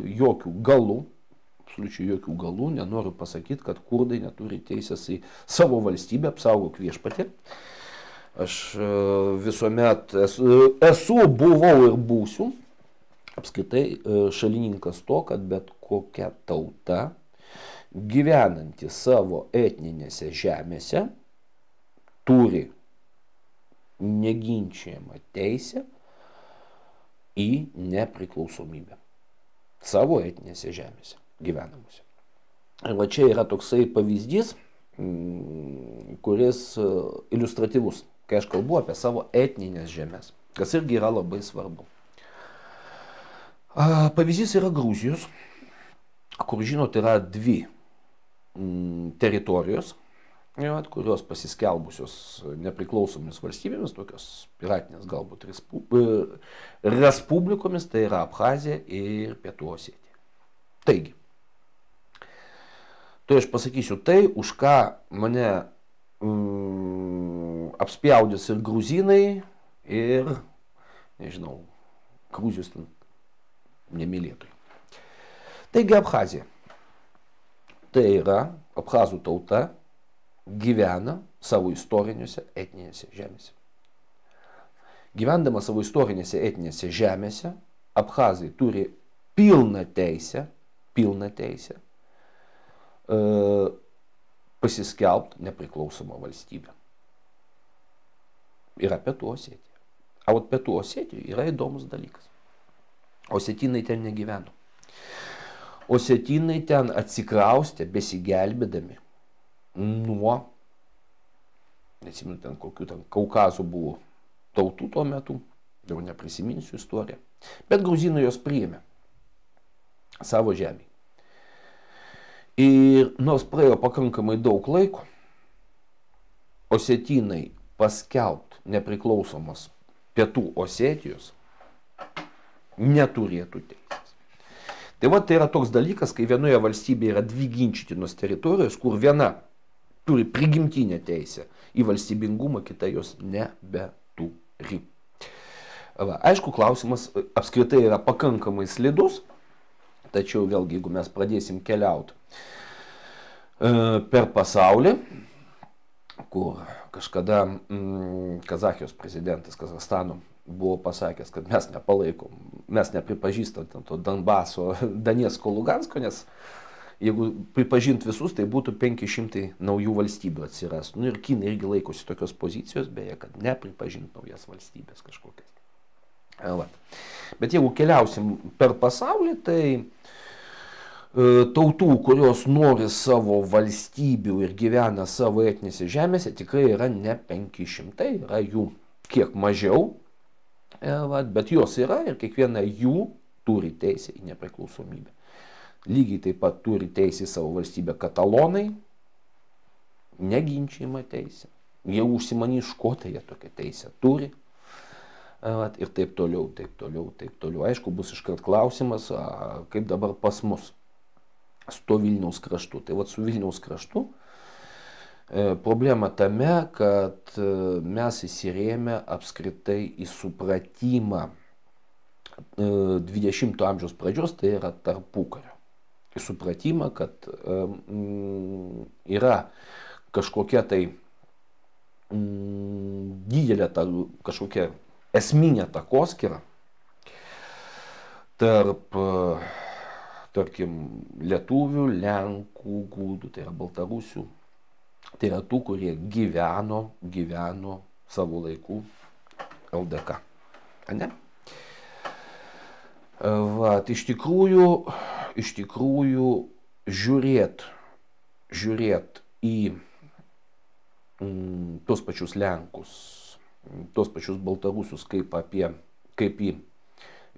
absoliučiai jokių galų nenoriu pasakyti, kad kurdai neturi teisės į savo valstybę, apsaugok viešpatį. Aš visuomet buvau ir būsiu apskritai šalininkas to, kad bet kokia tauta gyvenanti savo etninėse žemėse turi neginčiamą teisę į nepriklausomybę savo etninėse žemėse gyvenamuose. Ir va čia yra toksai pavyzdys, kuris iliustratyvus, kai aš kalbu apie savo etninės žemės, kas irgi yra labai svarbu. Pavyzdys yra Gruzijos, kur, žinot, yra 2 teritorijos, kurios pasiskelbusios nepriklausomis valstybėmis, tokios piratinės galbūt respublikomis, tai yra Abchazija ir Pietų Osetija. Taigi, tai aš pasakysiu tai, už ką mane apspjaudys ir gruzinai, ir, nežinau, Gruzijos nemylėtojai. Taigi Abchazija. Tai yra abchazų tauta gyvena savo istorinėse etninėse žemėse. Gyvendama savo istorinėse etninėse žemėse, abchazai turi pilną teisę pasiskelbti nepriklausomą valstybę. yra Pietų Osetija. O Pietų Osetijoje yra įdomus dalykas. Osetinai ten negyveno. Osetinai ten atsikraustė besigelbėdami nuo, nesimenu, ten kokių ten Kaukazų buvo tautų tuo metu, jau neprisiminsiu istoriją, bet gruzinai jos priėmė savo žemėje. Ir nors praėjo pakankamai daug laiko, osetinai paskelbt nepriklausomos Pietų Osetijos neturėtų teisės. Tai va, tai yra toks dalykas, kai vienoje valstybėje yra dvi ginčytinos teritorijos, kur viena turi prigimtinę teisę į valstybingumą, kita jos nebeturi. Va, aišku, klausimas apskritai yra pakankamai slidus, tačiau vėlgi, jeigu mes pradėsim keliauti per pasaulį, kur kažkada Kazachijos prezidentas Kazachstano buvo pasakęs, kad mes nepalaikom, mes nepripažįstam to Donbaso, Daniesko, Lugansko, nes jeigu pripažint visus, tai būtų 500 naujų valstybių atsiras. Nu ir Kinai irgi laikosi tokios pozicijos, beje, kad nepripažint naujas valstybės kažkokias. Va. Bet jeigu keliausim per pasaulį, tai tautų, kurios nori savo valstybių ir gyvena savo etninėse žemėse, tikrai yra ne 500, yra jų kiek mažiau, bet jos yra ir kiekviena jų turi teisę į nepriklausomybę. Lygiai taip pat turi teisę į savo valstybę katalonai, neginčiama teisė. Jie užsimanys škotai, jie tokią teisę turi. Ir taip toliau, taip toliau, taip toliau. Aišku, bus iškart klausimas, kaip dabar pas mus su to Vilniaus kraštu. Tai vat su Vilniaus kraštu problema tame, kad mes įsirėmė apskritai į supratimą 20 amžiaus pradžios, tai yra tarpukario. Į supratimą, kad yra kažkokia tai didelė kažkokia esminė takoskyra tarp, tarkim, lietuvių, lenkų, gudų, tai yra baltarusių. Tai yra tų, kurie gyveno savo laikų LDK. Ne? Va, iš tikrųjų žiūrėt į tos pačius Lenkus, tos pačius baltarusius kaip į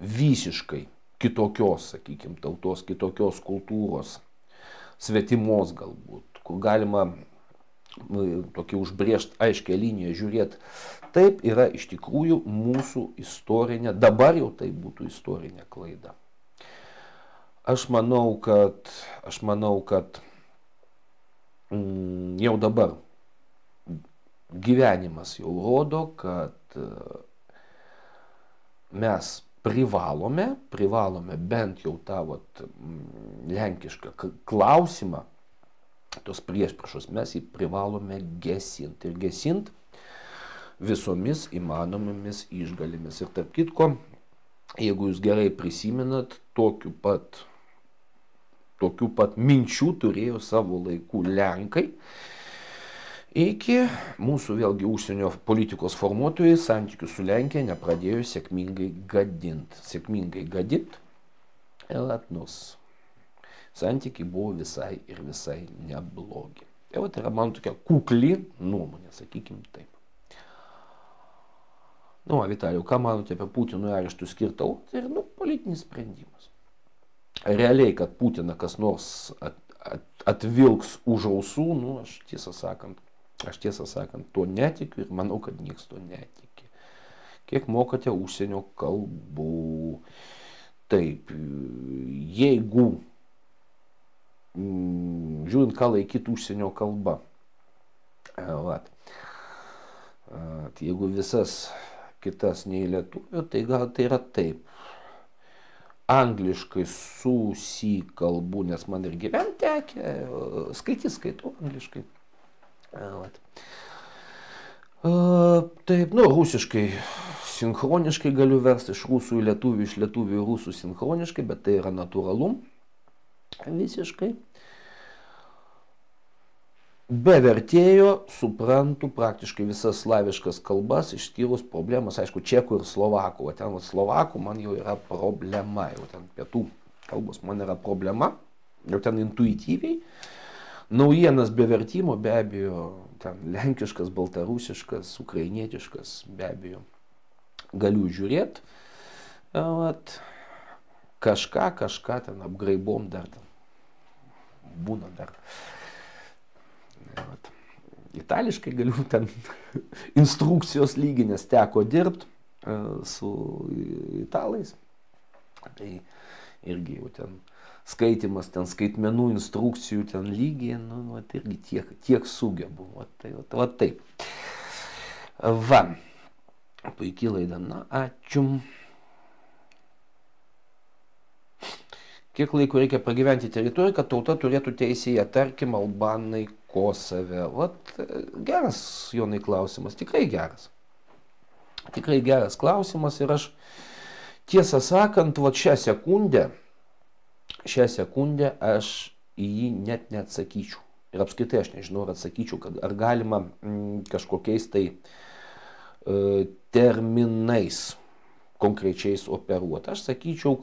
visiškai kitokios, sakykime, tautos, kitokios kultūros, svetimos galbūt, kur galima tokį užbrėžti aiškę liniją žiūrėti. Taip yra iš tikrųjų mūsų istorinė, dabar jau tai būtų istorinė klaida. Aš manau, kad jau dabar gyvenimas jau rodo, kad mes privalome bent jau tą lenkišką klausimą, tos priešpriešos, mes jį privalome gesinti. Ir gesinti visomis įmanomomis išgalimis. Ir tarp kitko, jeigu jūs gerai prisimenat, tokių pat minčių turėjo savo laikų Lenkai, iki mūsų vėlgi užsienio politikos formuotojai santykių su Lenkija nepradėjo sėkmingai gadinti. Nors santykiai buvo visai ir visai neblogi. Tai yra man tokia kukli nuomonė, sakykim taip. Vitalijau, ką manote apie Putino areštų skirtą? Tai yra politinis sprendimas. Realiai, kad Putiną kas nors atvilks už ausų, aš tiesą sakant, to netikiu ir manau, kad niekas to netiki. Kiek mokate užsienio kalbų? Taip, jeigu žiūrint, ką laikyti užsienio kalba. Jeigu visas kitas nei lietuvių, tai gal tai yra taip. Angliškai susikalbu, nes man ir gyventi tekę, skaitau angliškai. Taip, rusiškai sinchroniškai galiu versti iš rusų į lietuvių, iš lietuvių į rusų sinchroniškai, bet tai yra natūralu visiškai. be vertėjo suprantu praktiškai visas slaviškas kalbas, išskyrus problemas, aišku, čekų ir slovakų. O ten slovakų man jau yra problema, jau ten pietų kalbos man yra problema, jau ten intuityviai. Naujienas be vertimo, be abejo, ten lenkiškas, baltarusiškas, ukrainietiškas, be abejo, galiu žiūrėti. Kažką ten apgraibom dar ten būna dar. Itališkai galiu ten instrukcijos lyginės teko dirbti su italais. Tai irgi jau ten skaitimas, ten skaitmenų instrukcijų ten lygiai, nu, irgi tiek sugebu. Va taip. Va. Puikiai laida. Na, ačiū. Kiek laiko reikia pragyventi teritoriją, kad tauta turėtų teisę ją, tarkim, albanai Kosove? Vat geras, Jonai, klausimas, tikrai geras. Tikrai geras klausimas ir aš, tiesą sakant, vat šią sekundę aš į jį net neatsakyčiau. Ir apskritai aš nežinau, ar atsakyčiau, ar galima kažkokiais tai terminais konkrečiais operuoti. Aš sakyčiau,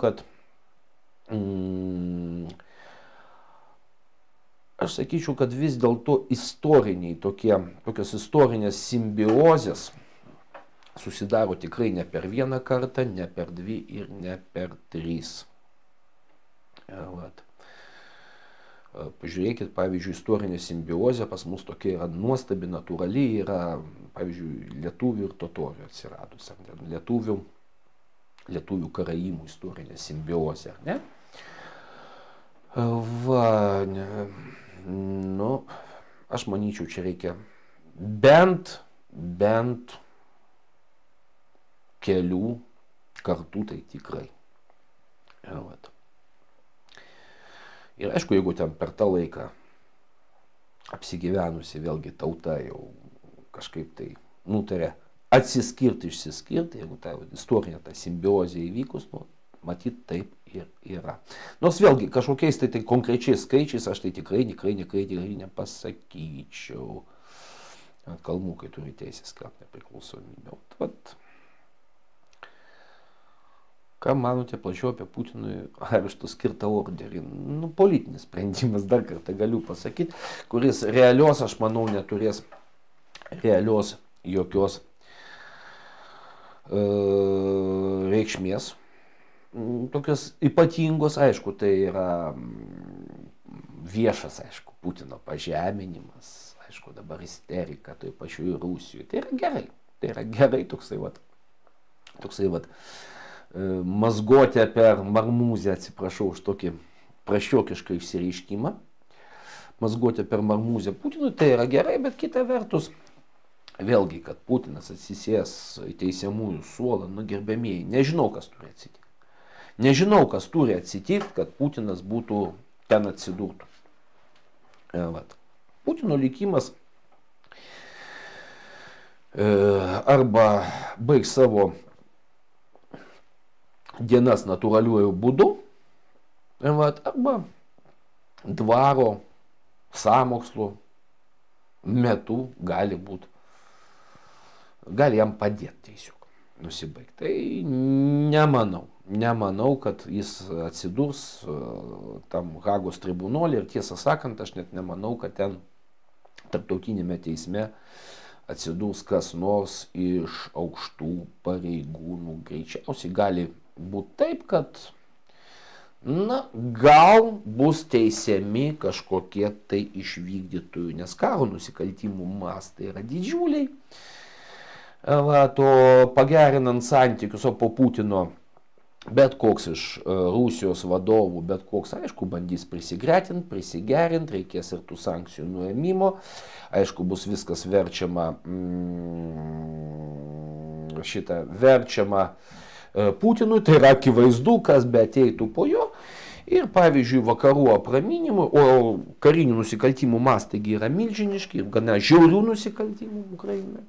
kad vis dėlto istoriniai tokios istorinės simbiozės susidaro tikrai ne per vieną kartą, ne per dvi ir ne per tris. Pažiūrėkit, pavyzdžiui, istorinė simbiozė pas mus tokia yra nuostabi, natūrali, yra, pavyzdžiui, lietuvių ir totorių atsiradus, lietuvių karaimų istorinė simbiozė, ne? Va, nu, aš manyčiau, čia reikia bent kelių kartų, tai tikrai. Ir aišku, jeigu ten per tą laiką apsigyvenusi vėlgi tauta jau kažkaip tai nutarė atsiskirti, išsiskirti, jeigu ta istorinė ta simbiozė įvykus, nu, matyt, taip ir yra. Nors vėlgi kažkokiais tai konkrečiais skaičiais aš tai tikrai nepasakyčiau. Kalmūkai turi teisę skelbti nepriklausomybę. Vat. Ką manote plačiau apie Putinui arešto skirtą orderį? Nu, politinis sprendimas, dar kartą galiu pasakyti, kuris realios, aš manau, neturės realios jokios reikšmės. Tokios ypatingos, aišku, tai yra viešas, aišku, Putino pažeminimas, aišku, dabar isterika toj pačioj Rusijoje. Tai yra gerai toksai vat mazgotė per marmūzę, atsiprašau už tokį prašiokišką išsireiškimą, mazgotė per marmūzę Putinui, tai yra gerai, bet kita vertus, vėlgi, kad Putinas atsisės į teisiamųjų suolą, nu, gerbėmieji, nežinau, kas turi atsitikti. Nežinau, kas turi atsitikti, kad Putinas būtų ten atsidurtų. Putino likimas arba baigs savo dienas natūraliuoju būdu, arba dvaro sąmokslo metu gali jam padėti tiesiog nusibaigti. Tai nemanau, kad jis atsidurs tam Hagos tribunolė ir tiesą sakant, aš net nemanau, kad ten tarptautinėme teisme atsidurs kas nors iš aukštų pareigūnų. Greičiausiai gali būti taip, kad gal bus teisiami kažkokie tai išvykdytojų, nes karo nusikaltimų mastai yra didžiuliai. O pagerinant santykius, o po Putino bet koks iš Rusijos vadovų, bet koks, aišku, bandys prisigerinti, reikės ir tų sankcijų nuėmimo, aišku, bus viskas verčiama Putinui, tai yra akivaizdu, kas be ateitų po jo. Ir pavyzdžiui, vakarų apraminimų, o karinių nusikaltimų mastai yra milžiniški ir gana žiaurių nusikaltimų Ukrainoje.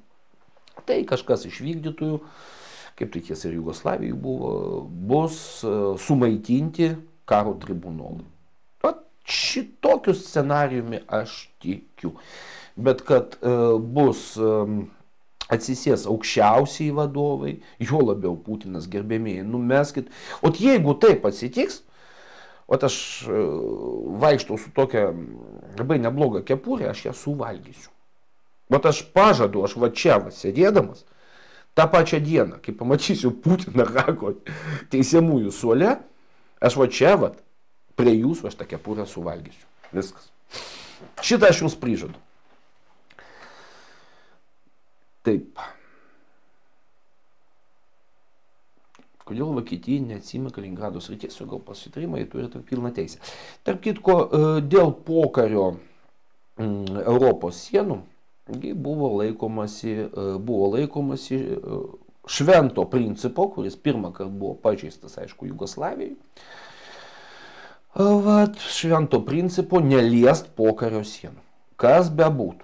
Tai kažkas iš vykdytojų, kaip tai tiesa ir Jugoslavijoje buvo, bus sumaitinti karo tribunolui. šitokiu scenarijumi aš tikiu. Bet kad bus atsisės aukščiausiai vadovai, jo labiau Putinas, gerbėmėjai, numeskit. O jeigu taip atsitiks, o aš vaikštau su tokia labai nebloga kepurė, aš ją suvalgysiu. O aš pažadu, aš va čia va, sėdėdamas, tą pačią dieną, kai pamatysiu Putiną Hako teisiamųjų suole, aš va čia va, prie jūsų aš tą kepurę suvalgysiu. Viskas. Šitą aš jums prižadu. Taip. Kodėl Vokietija neatsima Kaliningrado srities, o gal pasitarimai turi tam pilną teisę. Tarp kitko, dėl pokario Europos sienų buvo laikomasi švento principo, kuris pirmą kartą buvo pažeistas, aišku, Jugoslavijai. Vat, švento principo neliest pokario sienų. Kas bebūtų.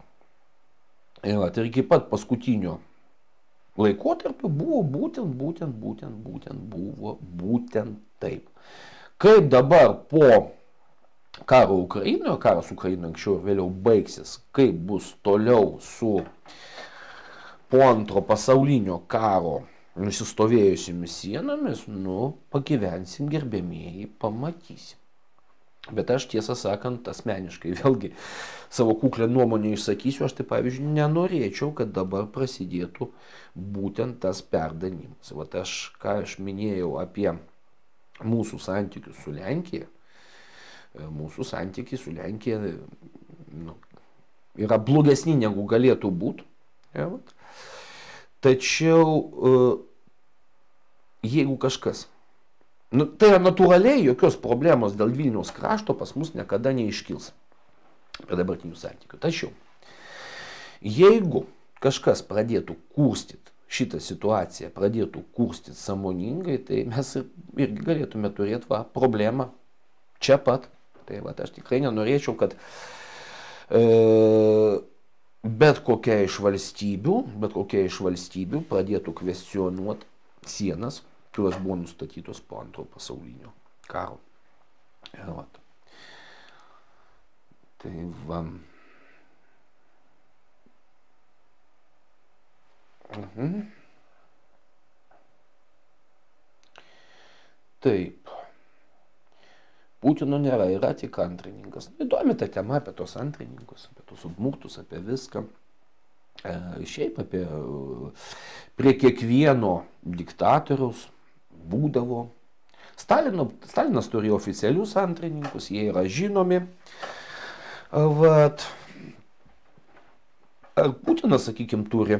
Ir iki pat paskutinio laikotarpio buvo būtent taip. Kaip dabar po karo Ukrainoje, karas Ukrainoje anksčiau ir vėliau baigsis, kaip bus toliau su po antro pasaulinio karo nusistovėjusiamis sienomis, pagyvensim, gerbėmėjai, pamatysim. Bet aš tiesą sakant, asmeniškai vėlgi savo kuklę nuomonę išsakysiu, aš tai pavyzdžiui nenorėčiau, kad dabar prasidėtų būtent tas perdanimas. Vat ką aš minėjau apie mūsų santykius su Lenkija, mūsų santykiai su Lenkija yra blogesni negu galėtų būti. Ja, tačiau jeigu kažkas, tai yra natūraliai, jokios problemos dėl Vilniaus krašto pas mus niekada neiškils prie dabartinių santykių. Tačiau, jeigu kažkas pradėtų kurstyti šitą situaciją, pradėtų kurstyti sąmoningai, tai mes irgi galėtume turėti problemą čia pat. Tai aš tikrai nenorėčiau, kad bet kokia iš valstybių pradėtų kvestionuoti sienas, kurios buvo nustatytos po antro pasaulinio karo. Tai va. Taip. Putino nėra, yra tik antrininkas. Įdomi ta tema apie tos antrininkus, apie tos udmurtus, apie viską. Šiaip prie kiekvieno diktatoriaus būdavo. Stalinas turėjo oficialius antrininkus, jie yra žinomi. Vat. Ar Putinas, sakykime, turi?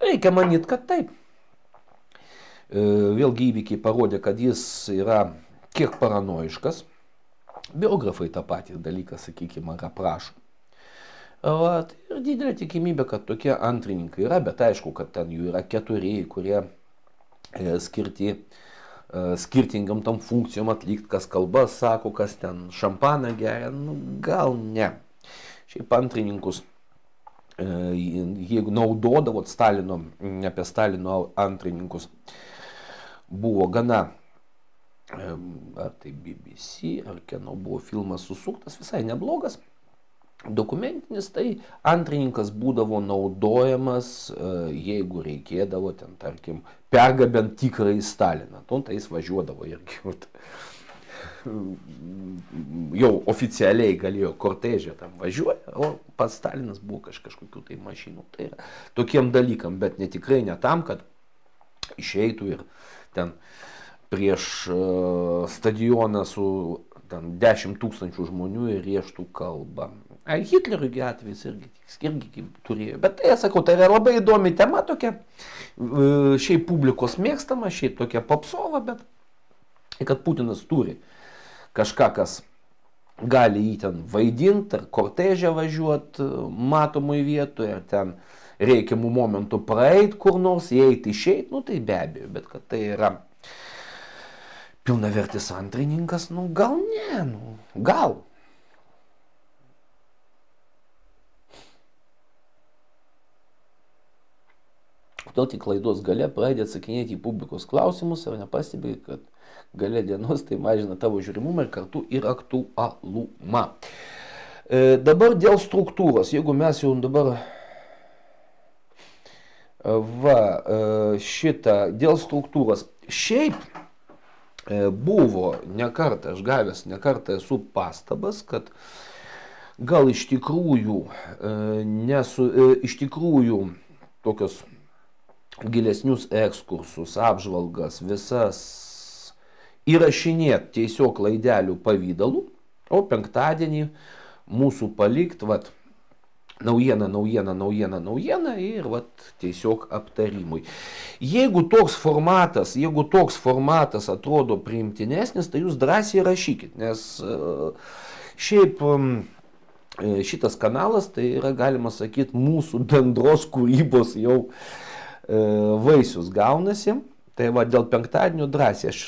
Reikia manyti, kad taip. Vėlgi įvykiai parodė, kad jis yra kiek paranoiškas. Biografai tą patį dalyką, sakykime, aprašo. Ir didelė tikimybė, kad tokie antrininkai yra, bet aišku, kad ten jų yra 4, kurie skirti skirtingam tam funkcijom atlikti, kas kalbas sako, kas ten šampaną geria, gal ne. Šiaip antrininkus, jeigu naudodavot Stalino, apie Stalino antrininkus, buvo gana, ar tai BBC, ar kieno buvo filmas susuktas, visai neblogas. Dokumentinis, tai antrininkas būdavo naudojamas, jeigu reikėdavo ten, tarkim, pergabent tikrąjį Staliną. Tai jis važiuodavo irgi. Jau oficialiai galėjo kortežė tam važiuoja, o pats Stalinas buvo kažkokių tai mašinų. Tai yra tokiem dalykam, bet netikrai ne tam, kad išeitų ir ten prieš stadioną su 10 000 žmonių ir rieštų kalbą. Hitleriui atvejs irgi turėjo. Bet tai, sakau, tai yra labai įdomi tema tokia. Šiaip publikos mėgstama, šiaip tokia popsova, bet kad Putinas turi kažką, kas gali jį ten vaidinti, ar kortežę važiuoti matomoj vietoje, ar ten reikiamų momentų praeit kur nors, įeiti, išeiti, tai be abejo, bet kad tai yra pilnavertis antrininkas, gal ne, gal. Kodėl tik laidos gale pradedi atsakinėti į publikos klausimus ir nepastebi, kad gale dienos, tai mažina tavo žiūrimumą ir kartu ir aktualumą. Dabar dėl struktūros, jeigu mes jau dabar šitą dėl struktūros, šiaip buvo nekartą, aš gavęs nekartą esu pastabas, kad gal iš tikrųjų, iš tikrųjų tokios gilesnius ekskursus, apžvalgas, visas įrašinėti tiesiog laidelių pavydalų, o penktadienį mūsų palikt, vat, naujiena ir vat, tiesiog aptarimui. Jeigu toks formatas atrodo priimtinesnis, tai jūs drąsiai rašykit, nes šiaip šitas kanalas, tai yra, galima sakyti, mūsų bendros kūrybos jau vaisius gaunasi. Tai va, dėl penktadienio drąsiai, aš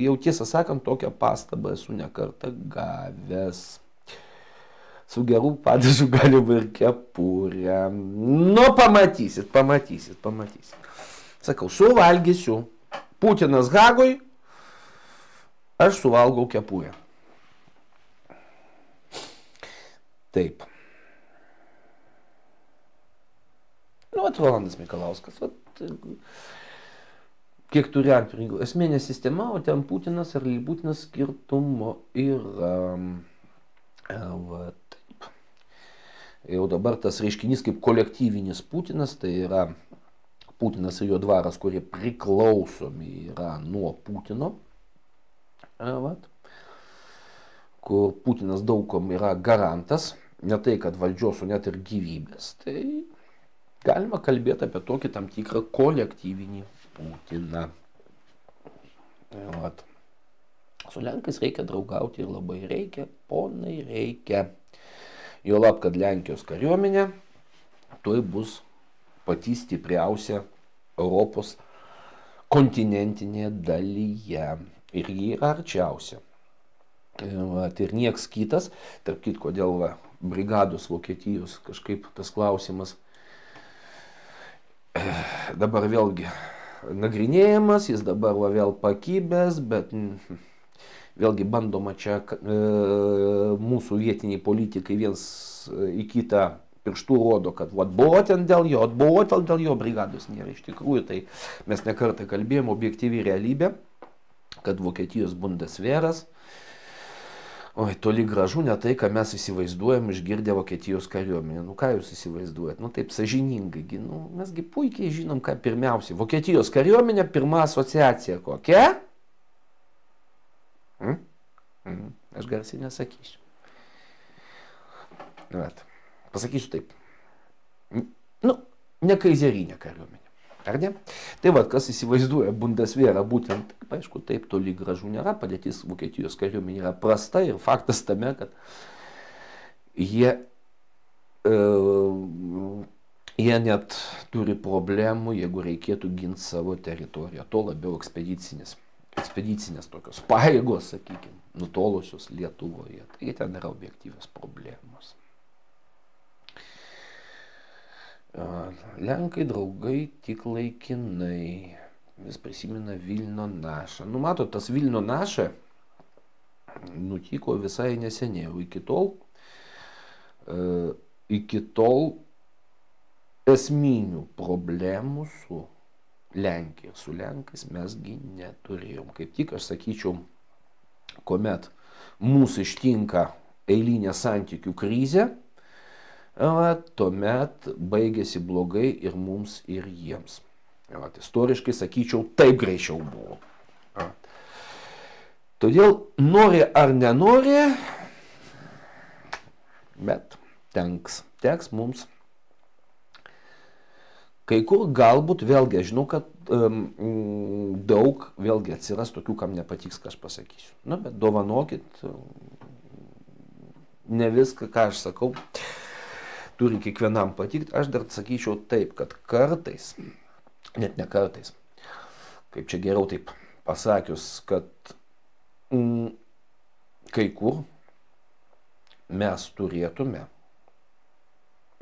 jau tiesą sakant, tokią pastabą esu nekartą gavęs. Su gerų padažu galima ir kepurę. Nu, pamatysit. Sakau, suvalgysiu. Putinas Hagoj, aš suvalgau kepurę. Taip. Nu, Rolandas Mikalauskas, kiek turi atpirkų. Esminė sistema, o ten Putinas ar Putinas skirtumo yra. Taip. Jau dabar tas reiškinys kaip kolektyvinis Putinas, tai yra Putinas ir jo dvaras, kurie priklausomi yra nuo Putino. Kur Putinas daugom yra garantas, ne tai, kad valdžios, o net ir gyvybės. Tai galima kalbėti apie tokį tam tikrą kolektyvinį Putiną. Vat. Su Lenkais reikia draugauti ir labai reikia, ponai reikia. Juolab, kad Lenkijos kariuomenė tuoj bus pati stipriausia Europos kontinentinėje dalyje. Ir ji yra arčiausia. Vat, ir nieks kitas, tarp kitko dėl brigados Vokietijos kažkaip tas klausimas dabar vėlgi nagrinėjamas, jis dabar vėl pakibęs, bet vėlgi bandoma čia mūsų vietiniai politikai viens į kitą pirštų rodo, kad buvo ten dėl jo brigados nėra. Iš tikrųjų, tai mes nekartą kalbėjom, objektyvi realybė, kad Vokietijos bundesveras, oi, toli gražu ne tai, ką mes įsivaizduojam išgirdę Vokietijos kariuomenę. Nu, ką jūs įsivaizduojat? Nu, taip sąžiningai. Nu, mesgi puikiai žinom, ką pirmiausiai. Vokietijos kariuomenė, pirma asociacija kokia? Aš garsiai nesakysiu. Vat. Pasakysiu taip. Nu, ne kaizerinė kariuomenė. Ar ne? Tai va, kas įsivaizduoja Bundeswehrą būtent, aišku, taip toli gražu nėra, padėtis Vokietijos kariuomenė yra prasta ir faktas tame, kad jie net turi problemų, jeigu reikėtų ginti savo teritoriją, to labiau ekspedicinės tokios pajėgos, sakykime, nutolusios Lietuvoje, tai ten yra objektyvios problemos. Lenkai draugai tik laikinai, vis prisimena Vilno našą. Nu, matot, tas Vilno naša nutiko visai neseniai, o iki tol esminių problemų su Lenkija, su Lenkais mesgi neturėjom. Kaip tik aš sakyčiau, kuomet mūsų ištinka eilinė santykių krizė, tuomet baigėsi blogai ir mums, ir jiems. Istoriškai sakyčiau, taip greičiau buvo. Todėl nori ar nenori, bet teks mums. Kai kur galbūt, vėlgi, aš žinau, kad daug vėlgi atsiras tokių, kam nepatiks, ką aš pasakysiu. Na, bet dovanokit, ne viską, ką aš sakau, turi kiekvienam patikti. Aš dar sakyčiau taip, kad kartais, net ne kartais, kaip čia geriau taip pasakius, kad kai kur mes turėtume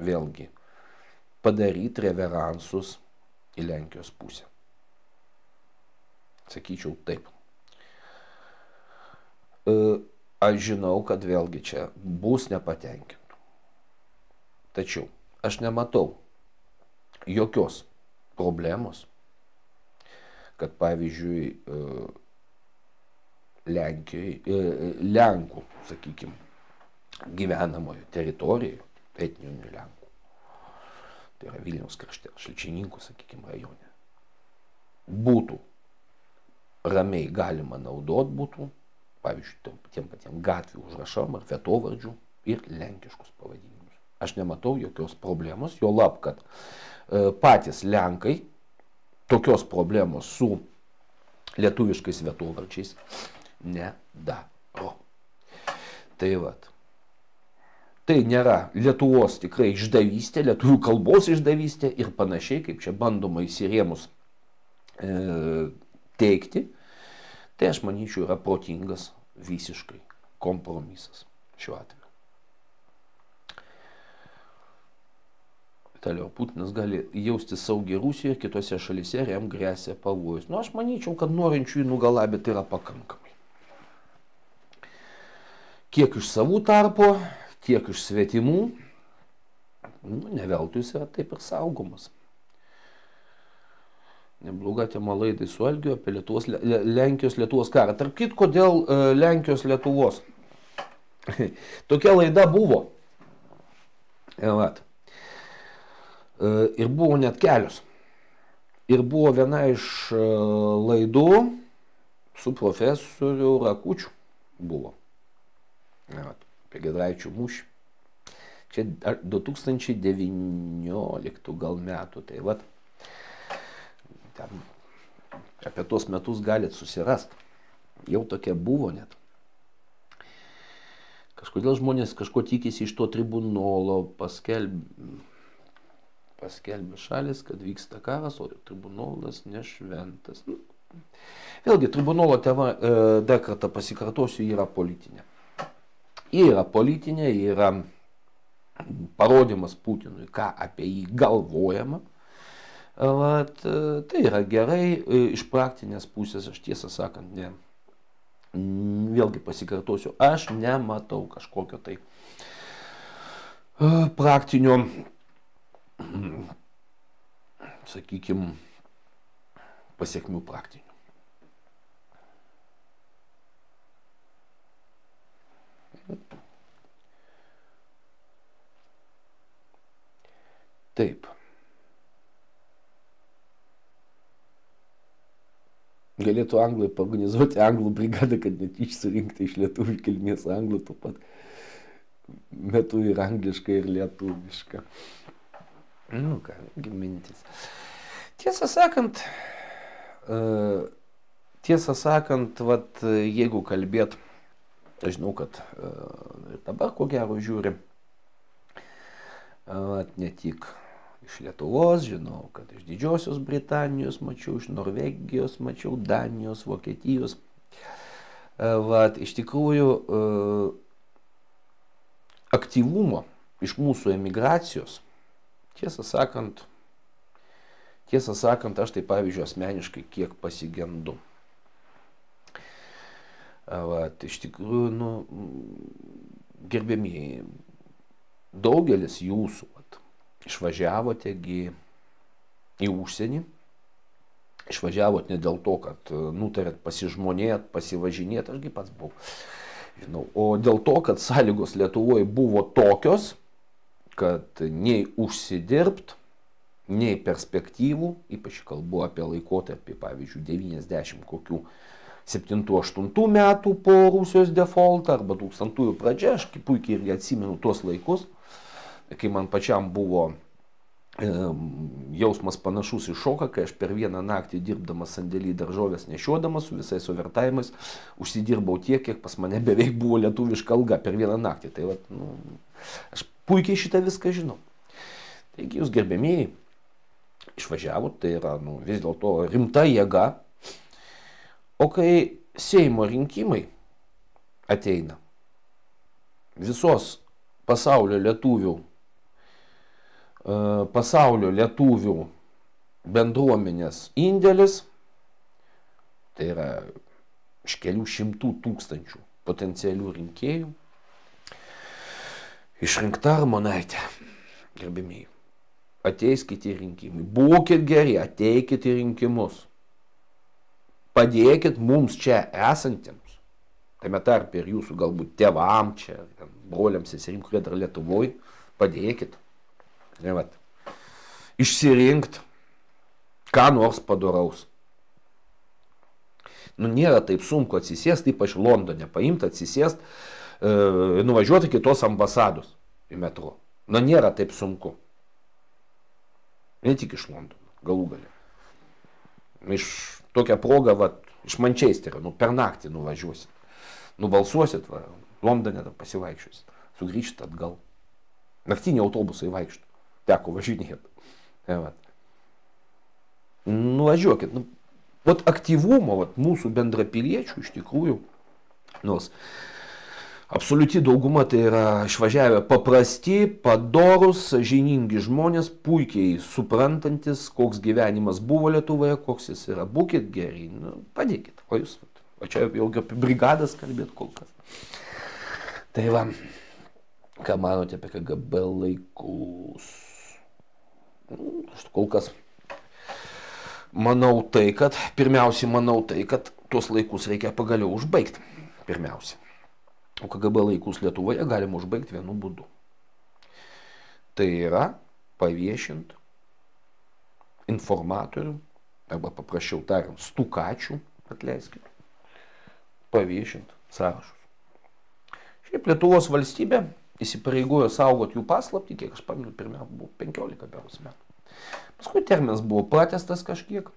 vėlgi padaryti reveransus į Lenkijos pusę. Sakyčiau taip. aš žinau, kad vėlgi čia bus nepatenkintų. Tačiau aš nematau jokios problemos, kad pavyzdžiui Lenkų, sakykime, gyvenamojo teritorijoje, etninių Lenkų, tai yra Vilniaus krašte, Šalčininkų, sakykime, rajone, būtų ramiai galima naudot būtų, pavyzdžiui, tiem patiem gatvių užrašam ar vietovardžių ir lenkiškus pavadinimus. Aš nematau jokios problemos, jo lab, kad patys Lenkai tokios problemos su lietuviškais vietovardžiais nedaro. Tai vat. Tai nėra Lietuvos tikrai išdavystė, lietuvių kalbos išdavystė ir panašiai, kaip čia bandoma įsirėmus teikti. Tai aš manyčiau yra protingas visiškai kompromisas šiuo atveju. Toliau, Putinas gali jausti saugiai Rusijoje, kitose šalyse ir jam grėsia pavojus. Nu, aš manyčiau, kad norinčių jį nugalabyti yra pakankamai. Kiek iš savų tarpo, tiek iš svetimų, ne veltui jis yra taip ir saugomas. Nebloga tema laidai su Algiu apie Lenkijos-Lietuvos karą. Tarp kitko, dėl Lenkijos-Lietuvos. Tokia laida buvo. Ir buvo net kelios. Ir buvo viena iš laidų su profesoriu Rakučiu. Buvo. Apie Giedraičių mūšį. Čia 2019 gal metų. Tai vat. Ten apie tuos metus galit susirast. Jau tokia buvo net. Kažkodėl žmonės kažko tikisi iš to tribunolo, paskelbė šalis, kad vyksta karas, o tribunolas nešventas. Vėlgi, tribunolo tema, dar kartą pasikartosiu, yra politinė. Yra politinė, yra parodimas Putinui, ką apie jį galvojama. Tai yra gerai, iš praktinės pusės, aš tiesą sakant, ne. Vėlgi pasikartosiu, aš nematau kažkokio tai praktinio, sakykime, pasiekmių praktinių. Taip. Galėtų anglai paorganizuoti anglų brigadą, kad net išsirinkti iš lietuvių kilmės anglų tuo pat metu ir anglišką, ir lietuvišką. Nu ką, mintis. Tiesą sakant, vat, jeigu kalbėt, aš žinau, kad ir dabar ko gero žiūri, ne tik iš Lietuvos, žinau, kad iš Didžiosios Britanijos mačiau, iš Norvegijos mačiau, Danijos, Vokietijos. Iš tikrųjų, aktyvumo iš mūsų emigracijos, tiesą sakant, aš tai pavyzdžiui asmeniškai kiek pasigendu. Iš tikrųjų, gerbėmieji, daugelis jūsų išvažiavote į užsienį, išvažiavot ne dėl to, kad nutarėt pasižmonėt, pasivažinėt, ašgi pats buvau, žinau, o dėl to, kad sąlygos Lietuvoje buvo tokios, kad nei užsidirbt, nei perspektyvų, ypač kalbu apie laikotarpį, pavyzdžiui, 90 kokių 7-8 metų po Rusijos defaultą arba 2000-ųjų pradžia, aš puikiai irgi atsimenu tuos laikus, kai man pačiam buvo jausmas panašus į šoką, kai aš per vieną naktį dirbdamas sandėly daržovės nešiodamas su visais overtimais užsidirbau tiek, kiek pas mane beveik buvo lietuviška alga per vieną naktį. Tai vat, aš puikiai šitą viską žinau. Taigi jūs gerbėmieji išvažiavot, tai yra vis dėlto rimta jėga. O kai Seimo rinkimai ateina, visos pasaulio lietuvių bendruomenės indėlis, tai yra iš kelių šimtų tūkstančių potencialių rinkėjų. Išrinkta Armonaitė, gerbimieji, ateis kiti rinkimai. Būkit geri, ateikit į rinkimus. Padėkit mums čia esantiems, tame tarpe ir jūsų galbūt tėvam čia, broliams, seserim, kurie dar Lietuvoj, padėkit. Išsirinkt ką nors padoraus. Nėra taip sunku atsisėst, ypač Londone, paimti, atsisėst, nuvažiuoti kitos ambasados į metro. Nėra taip sunku. Ne tik iš Londono, galų galę. Iš tokią progą, iš Mančesterio, per naktį nuvažiuosit. Nubalsuosit, Londone pasivaikščiosit. Sugrįžt atgal. Naktiniai autobusai vaikšto. Teko važinėti. Nuvažiuokit. Aktyvumo mūsų bendrapiliečių iš tikrųjų, nors absoliuti dauguma tai yra išvažiavę paprasti, padorus, sąžiningi žmonės, puikiai suprantantis, koks gyvenimas buvo Lietuvoje, koks jis yra. Būkit geri, padėkit. O jūs, čia jau apie brigadas kalbėt kol kas. Tai ką manote apie KGB laikus? Aš kol kas manau kad tuos laikus reikia pagaliau užbaigti. Pirmiausia. O KGB laikus Lietuvoje galima užbaigti vienu būdu. Tai yra paviešinti informatorių, arba paprasčiau tariant, stukačių, atleiskite, paviešinti sąrašus. Šiaip Lietuvos valstybė įsipareigojo saugoti jų paslaptį, kiek aš pamenu, pirmiausia buvo 15 metų. Paskui terminas buvo pratęstas kažkiek,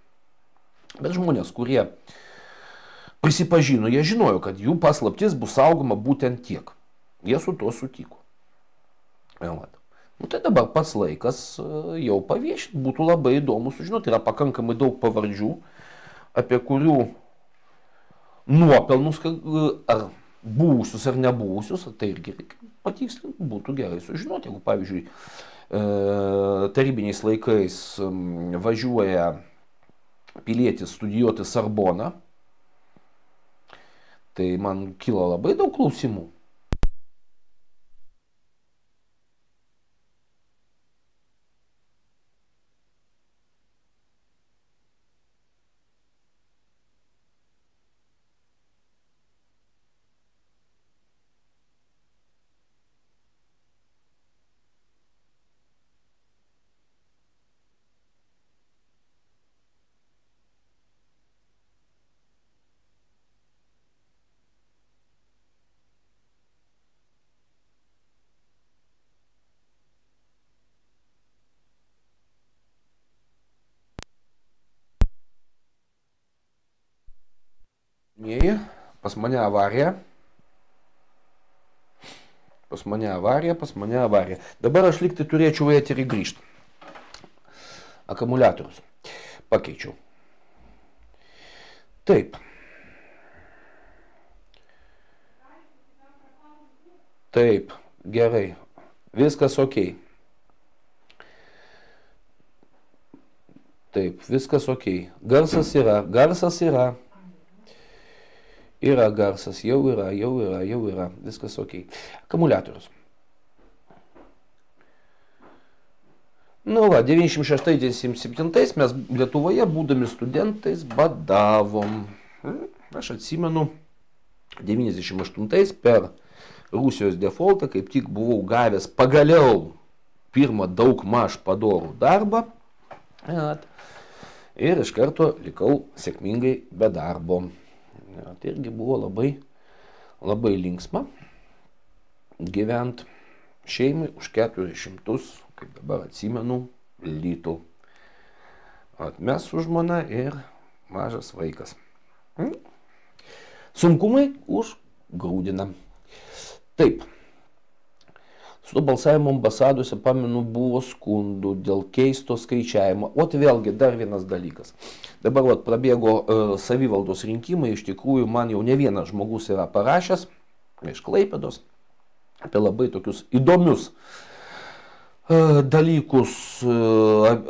bet žmonės, kurie prisipažino, jie žinojo, kad jų paslaptis bus saugoma būtent tiek. Jie su to sutiko. Tai dabar pats laikas jau paviešinti, būtų labai įdomu sužinoti. Yra pakankamai daug pavardžių, apie kurių nuopelnus, ar buvusius ar nebuvusius, tai irgi patikslinti, būtų gerai sužinoti. Jeigu, pavyzdžiui, tarybiniais laikais važiuoja pilietis studijuoti Sarboną, tai man kilo labai daug klausimų. Pas mane avarija. Dabar aš liktai turėčiau į eterį grįžti. Akumuliatorius pakeičiau. Taip. Taip, gerai. Viskas ok. Taip, viskas ok. Garsas yra. Yra garsas, jau yra, viskas ok. Akumuliatorius. 96-97 mes Lietuvoje, būdami studentais, badavom. Aš atsimenu, 98 per Rusijos defaultą, kaip tik buvau gavęs pagaliau pirmą daugmaž padorų darbą. Ir iš karto likau sėkmingai be darbo. Tai irgi buvo labai linksma gyvent šeimai už 400, kaip dabar atsimenu, litų. Mes su žmona ir mažas vaikas. Sunkumai užgrūdina. Taip. Su balsavimu ambasadose, pamenu, buvo skundų dėl keisto skaičiavimo. Vėlgi dar vienas dalykas. Dabar prabėgo savivaldos rinkimai, iš tikrųjų man jau ne vienas žmogus yra parašęs iš Klaipėdos apie labai tokius įdomius dalykus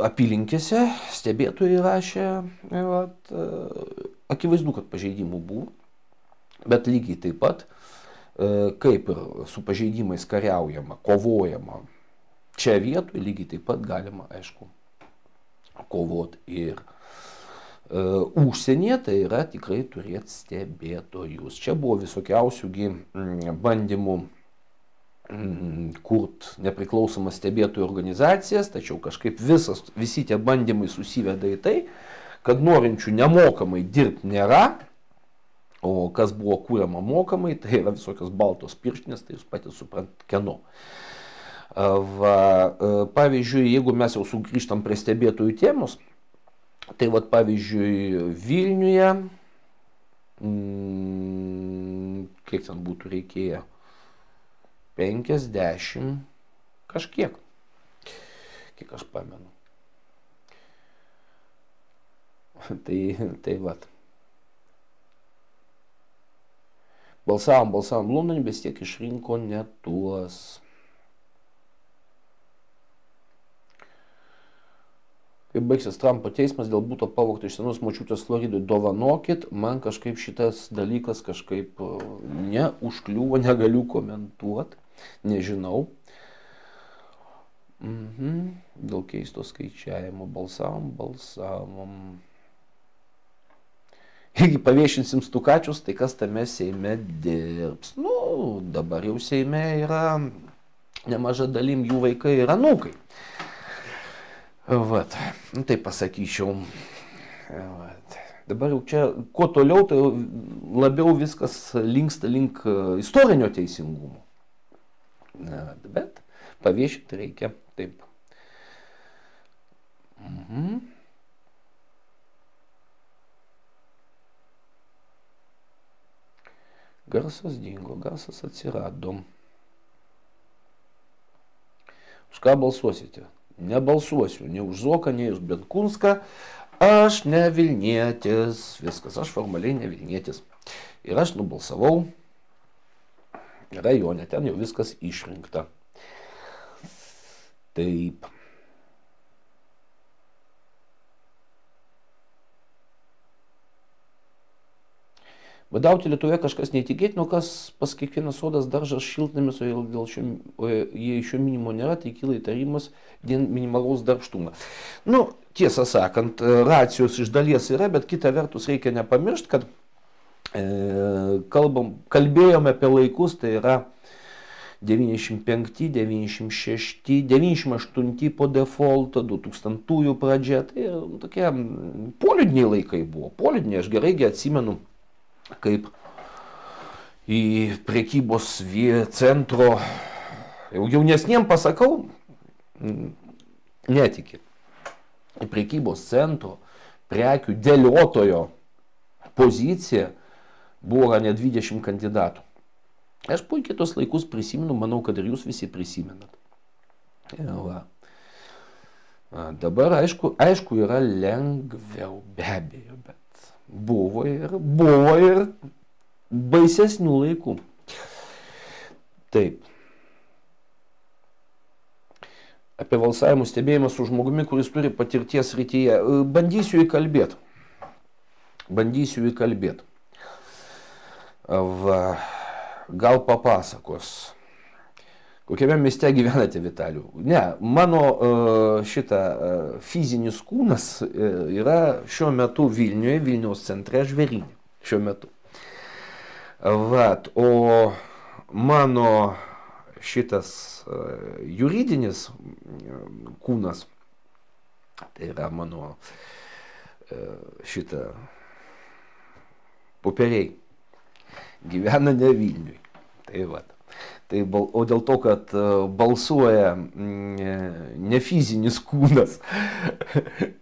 apylinkėse, stebėtojai rašė, akivaizdu, kad pažeidimų buvo, bet lygiai taip pat kaip ir su pažeidimais kariaujama, kovojama. Čia vietoj lygiai taip pat galima, aišku, kovoti ir užsienyje, tai yra tikrai turėti stebėtojus. Čia buvo visokiausiųgi bandymų kurt nepriklausomas stebėtojų organizacijas, tačiau kažkaip visi tie bandymai susiveda į tai, kad norinčių nemokamai dirbti nėra, o kas buvo kūriama mokamai, tai yra visokios baltos pirštinės, tai jūs patys suprant kieno. Pavyzdžiui, jeigu mes jau sugrįžtam prie stebėtojų temos, tai vat pavyzdžiui Vilniuje, kiek ten būtų reikėję, 50 kažkiek, kiek aš pamenu. Tai vat. Balsavom Londone, bet tiek išrinko ne tuos. Kai baigsis Trumpo teismas dėl būto pavogto iš senos močiutės Floridoj, dovanokit, man kažkaip šitas dalykas kažkaip neužkliuvo, negaliu komentuoti, nežinau. Dėl keisto skaičiavimo balsavom. Jeigu paviešinsim stukačius, tai kas tame Seime dirbs? Nu, dabar jau Seime yra nemaža dalim jų vaikai ir anūkai. Vat, tai pasakyčiau. Vat. Dabar jau čia, kuo toliau, tai labiau viskas linksta link istorinio teisingumo. Bet paviešinti reikia taip. Garsas dingo, garsas atsirado. Už ką balsuosite? Nebalsuosiu, nei už Zuoką, nei už Benkunską. Aš ne Vilnietis. Viskas, aš formaliai ne Vilnietis. Ir aš nubalsavau rajone, ten jau viskas išrinkta. Taip. Badauti Lietuvoje kažkas neįtikėtino, kas pas kiekvienas sodas daržas šiltnamis, o jei šio minimo nėra, tai kyla įtarimas dėl minimalaus darbštumo. Nu, tiesą sakant, racijos iš dalies yra, bet kita vertus reikia nepamiršti, kad kalbėjome apie laikus, tai yra 95, 96, 98 po defaulto, 2000 pradžia, tai tokie poliudiniai laikai buvo. Poliudiniai, aš gerai atsimenu, kaip į prekybos centro, jau jaunesniem pasakau, netikit, į prekybos centro prekių dėliotojo pozicija buvo net 20 kandidatų. Aš puikiai tos laikus prisimenu, manau, kad ir jūs visi prisimenat. Va. Dabar aišku yra lengviau, be abejo, bet buvo ir baisesnių laikų. Taip. Apie balsavimų stebėjimą su žmogumi, kuris turi patirties srityje. Bandysiu įkalbėti. Gal papasakos. Kokiame mieste gyvenate, Vitalijau? Ne, mano fizinis kūnas yra šiuo metu Vilniuje, Vilniaus centre, Žvėryne. Šiuo metu. Vat, o mano šitas juridinis kūnas, tai yra mano popieriai, gyvena ne Vilniui. Tai vat. Tai, o dėl to, kad balsuoja ne fizinis kūnas,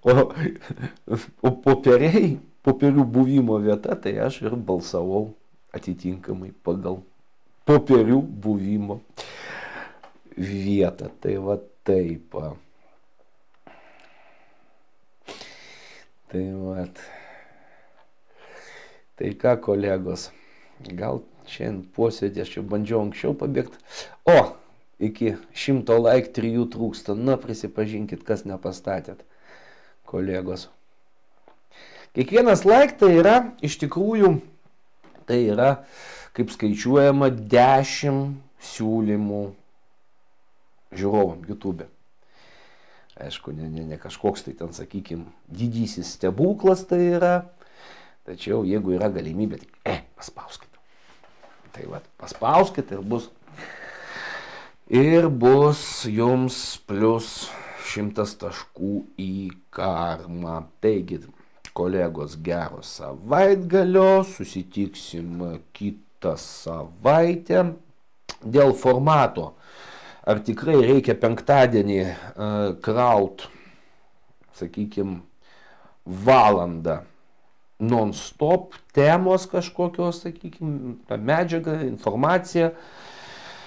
o popierių buvimo vieta, tai aš ir balsavau atitinkamai pagal popierių buvimo vietą. Tai va taip. Tai va. Tai ką, kolegos, gal šiandien posėdį aš jau bandžiau anksčiau pabėgti. O, iki 100 like 3 trūksta. Na, prisipažinkit, kas nepastatėt, kolegos. Kiekvienas like tai yra, iš tikrųjų, tai yra kaip skaičiuojama, 10 siūlymų žiūrovam YouTube. Aišku, ne kažkoks tai ten, sakykime, didysis stebuklas tai yra, tačiau jeigu yra galimybė, tai paspauskite. Tai va, paspauskite ir bus jums plus 100 taškų į karmą. Taigi, kolegos, gero savaitgalio, susitiksim kitą savaitę. Dėl formato, ar tikrai reikia penktadienį kraut, sakykime, valandą non-stop temos kažkokios, sakykime, medžiaga, informacija.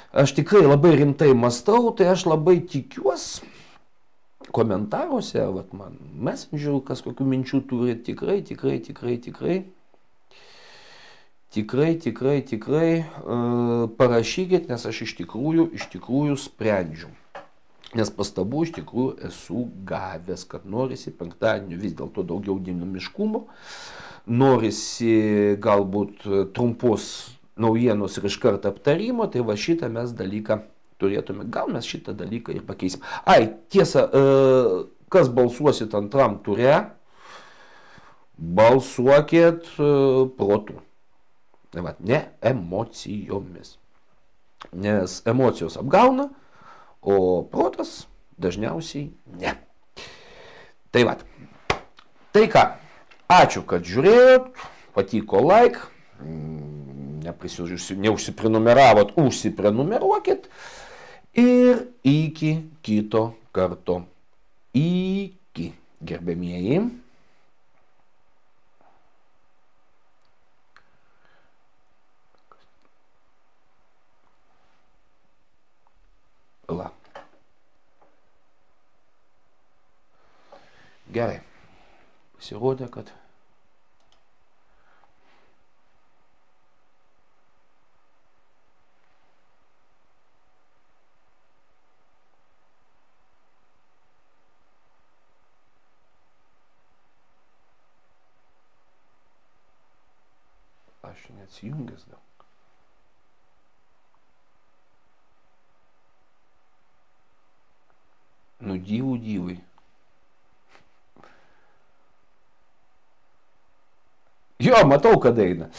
Aš tikrai labai rimtai mąstau, tai aš labai tikiuosi komentaruose, vat man Messenger, kas kokių minčių turi, tikrai parašykit, nes aš iš tikrųjų sprendžiu. Nes pastabų iš tikrųjų esu gavęs, kad norisi penktadienį vis dėlto daugiau dinamiškumo, norisi galbūt trumpos naujienos ir iš karto aptarimo, tai va šitą mes dalyką turėtume, gal mes šitą dalyką ir pakeisim. Tiesa, kas balsuosit antram ture, balsuokit protu. Ne emocijomis. Nes emocijos apgauna, o protas dažniausiai ne. Tai va. Tai ką, ačiū, kad žiūrėjot, patiko like, neužsiprenumeravot, užsiprenumeruokit ir iki kito karto. Iki, gerbėmieji. Gerai, pasirodė, kad aš neatsijungęs dar. Nu, dyvai. Jo, matau, kad eina.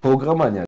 Programa ne.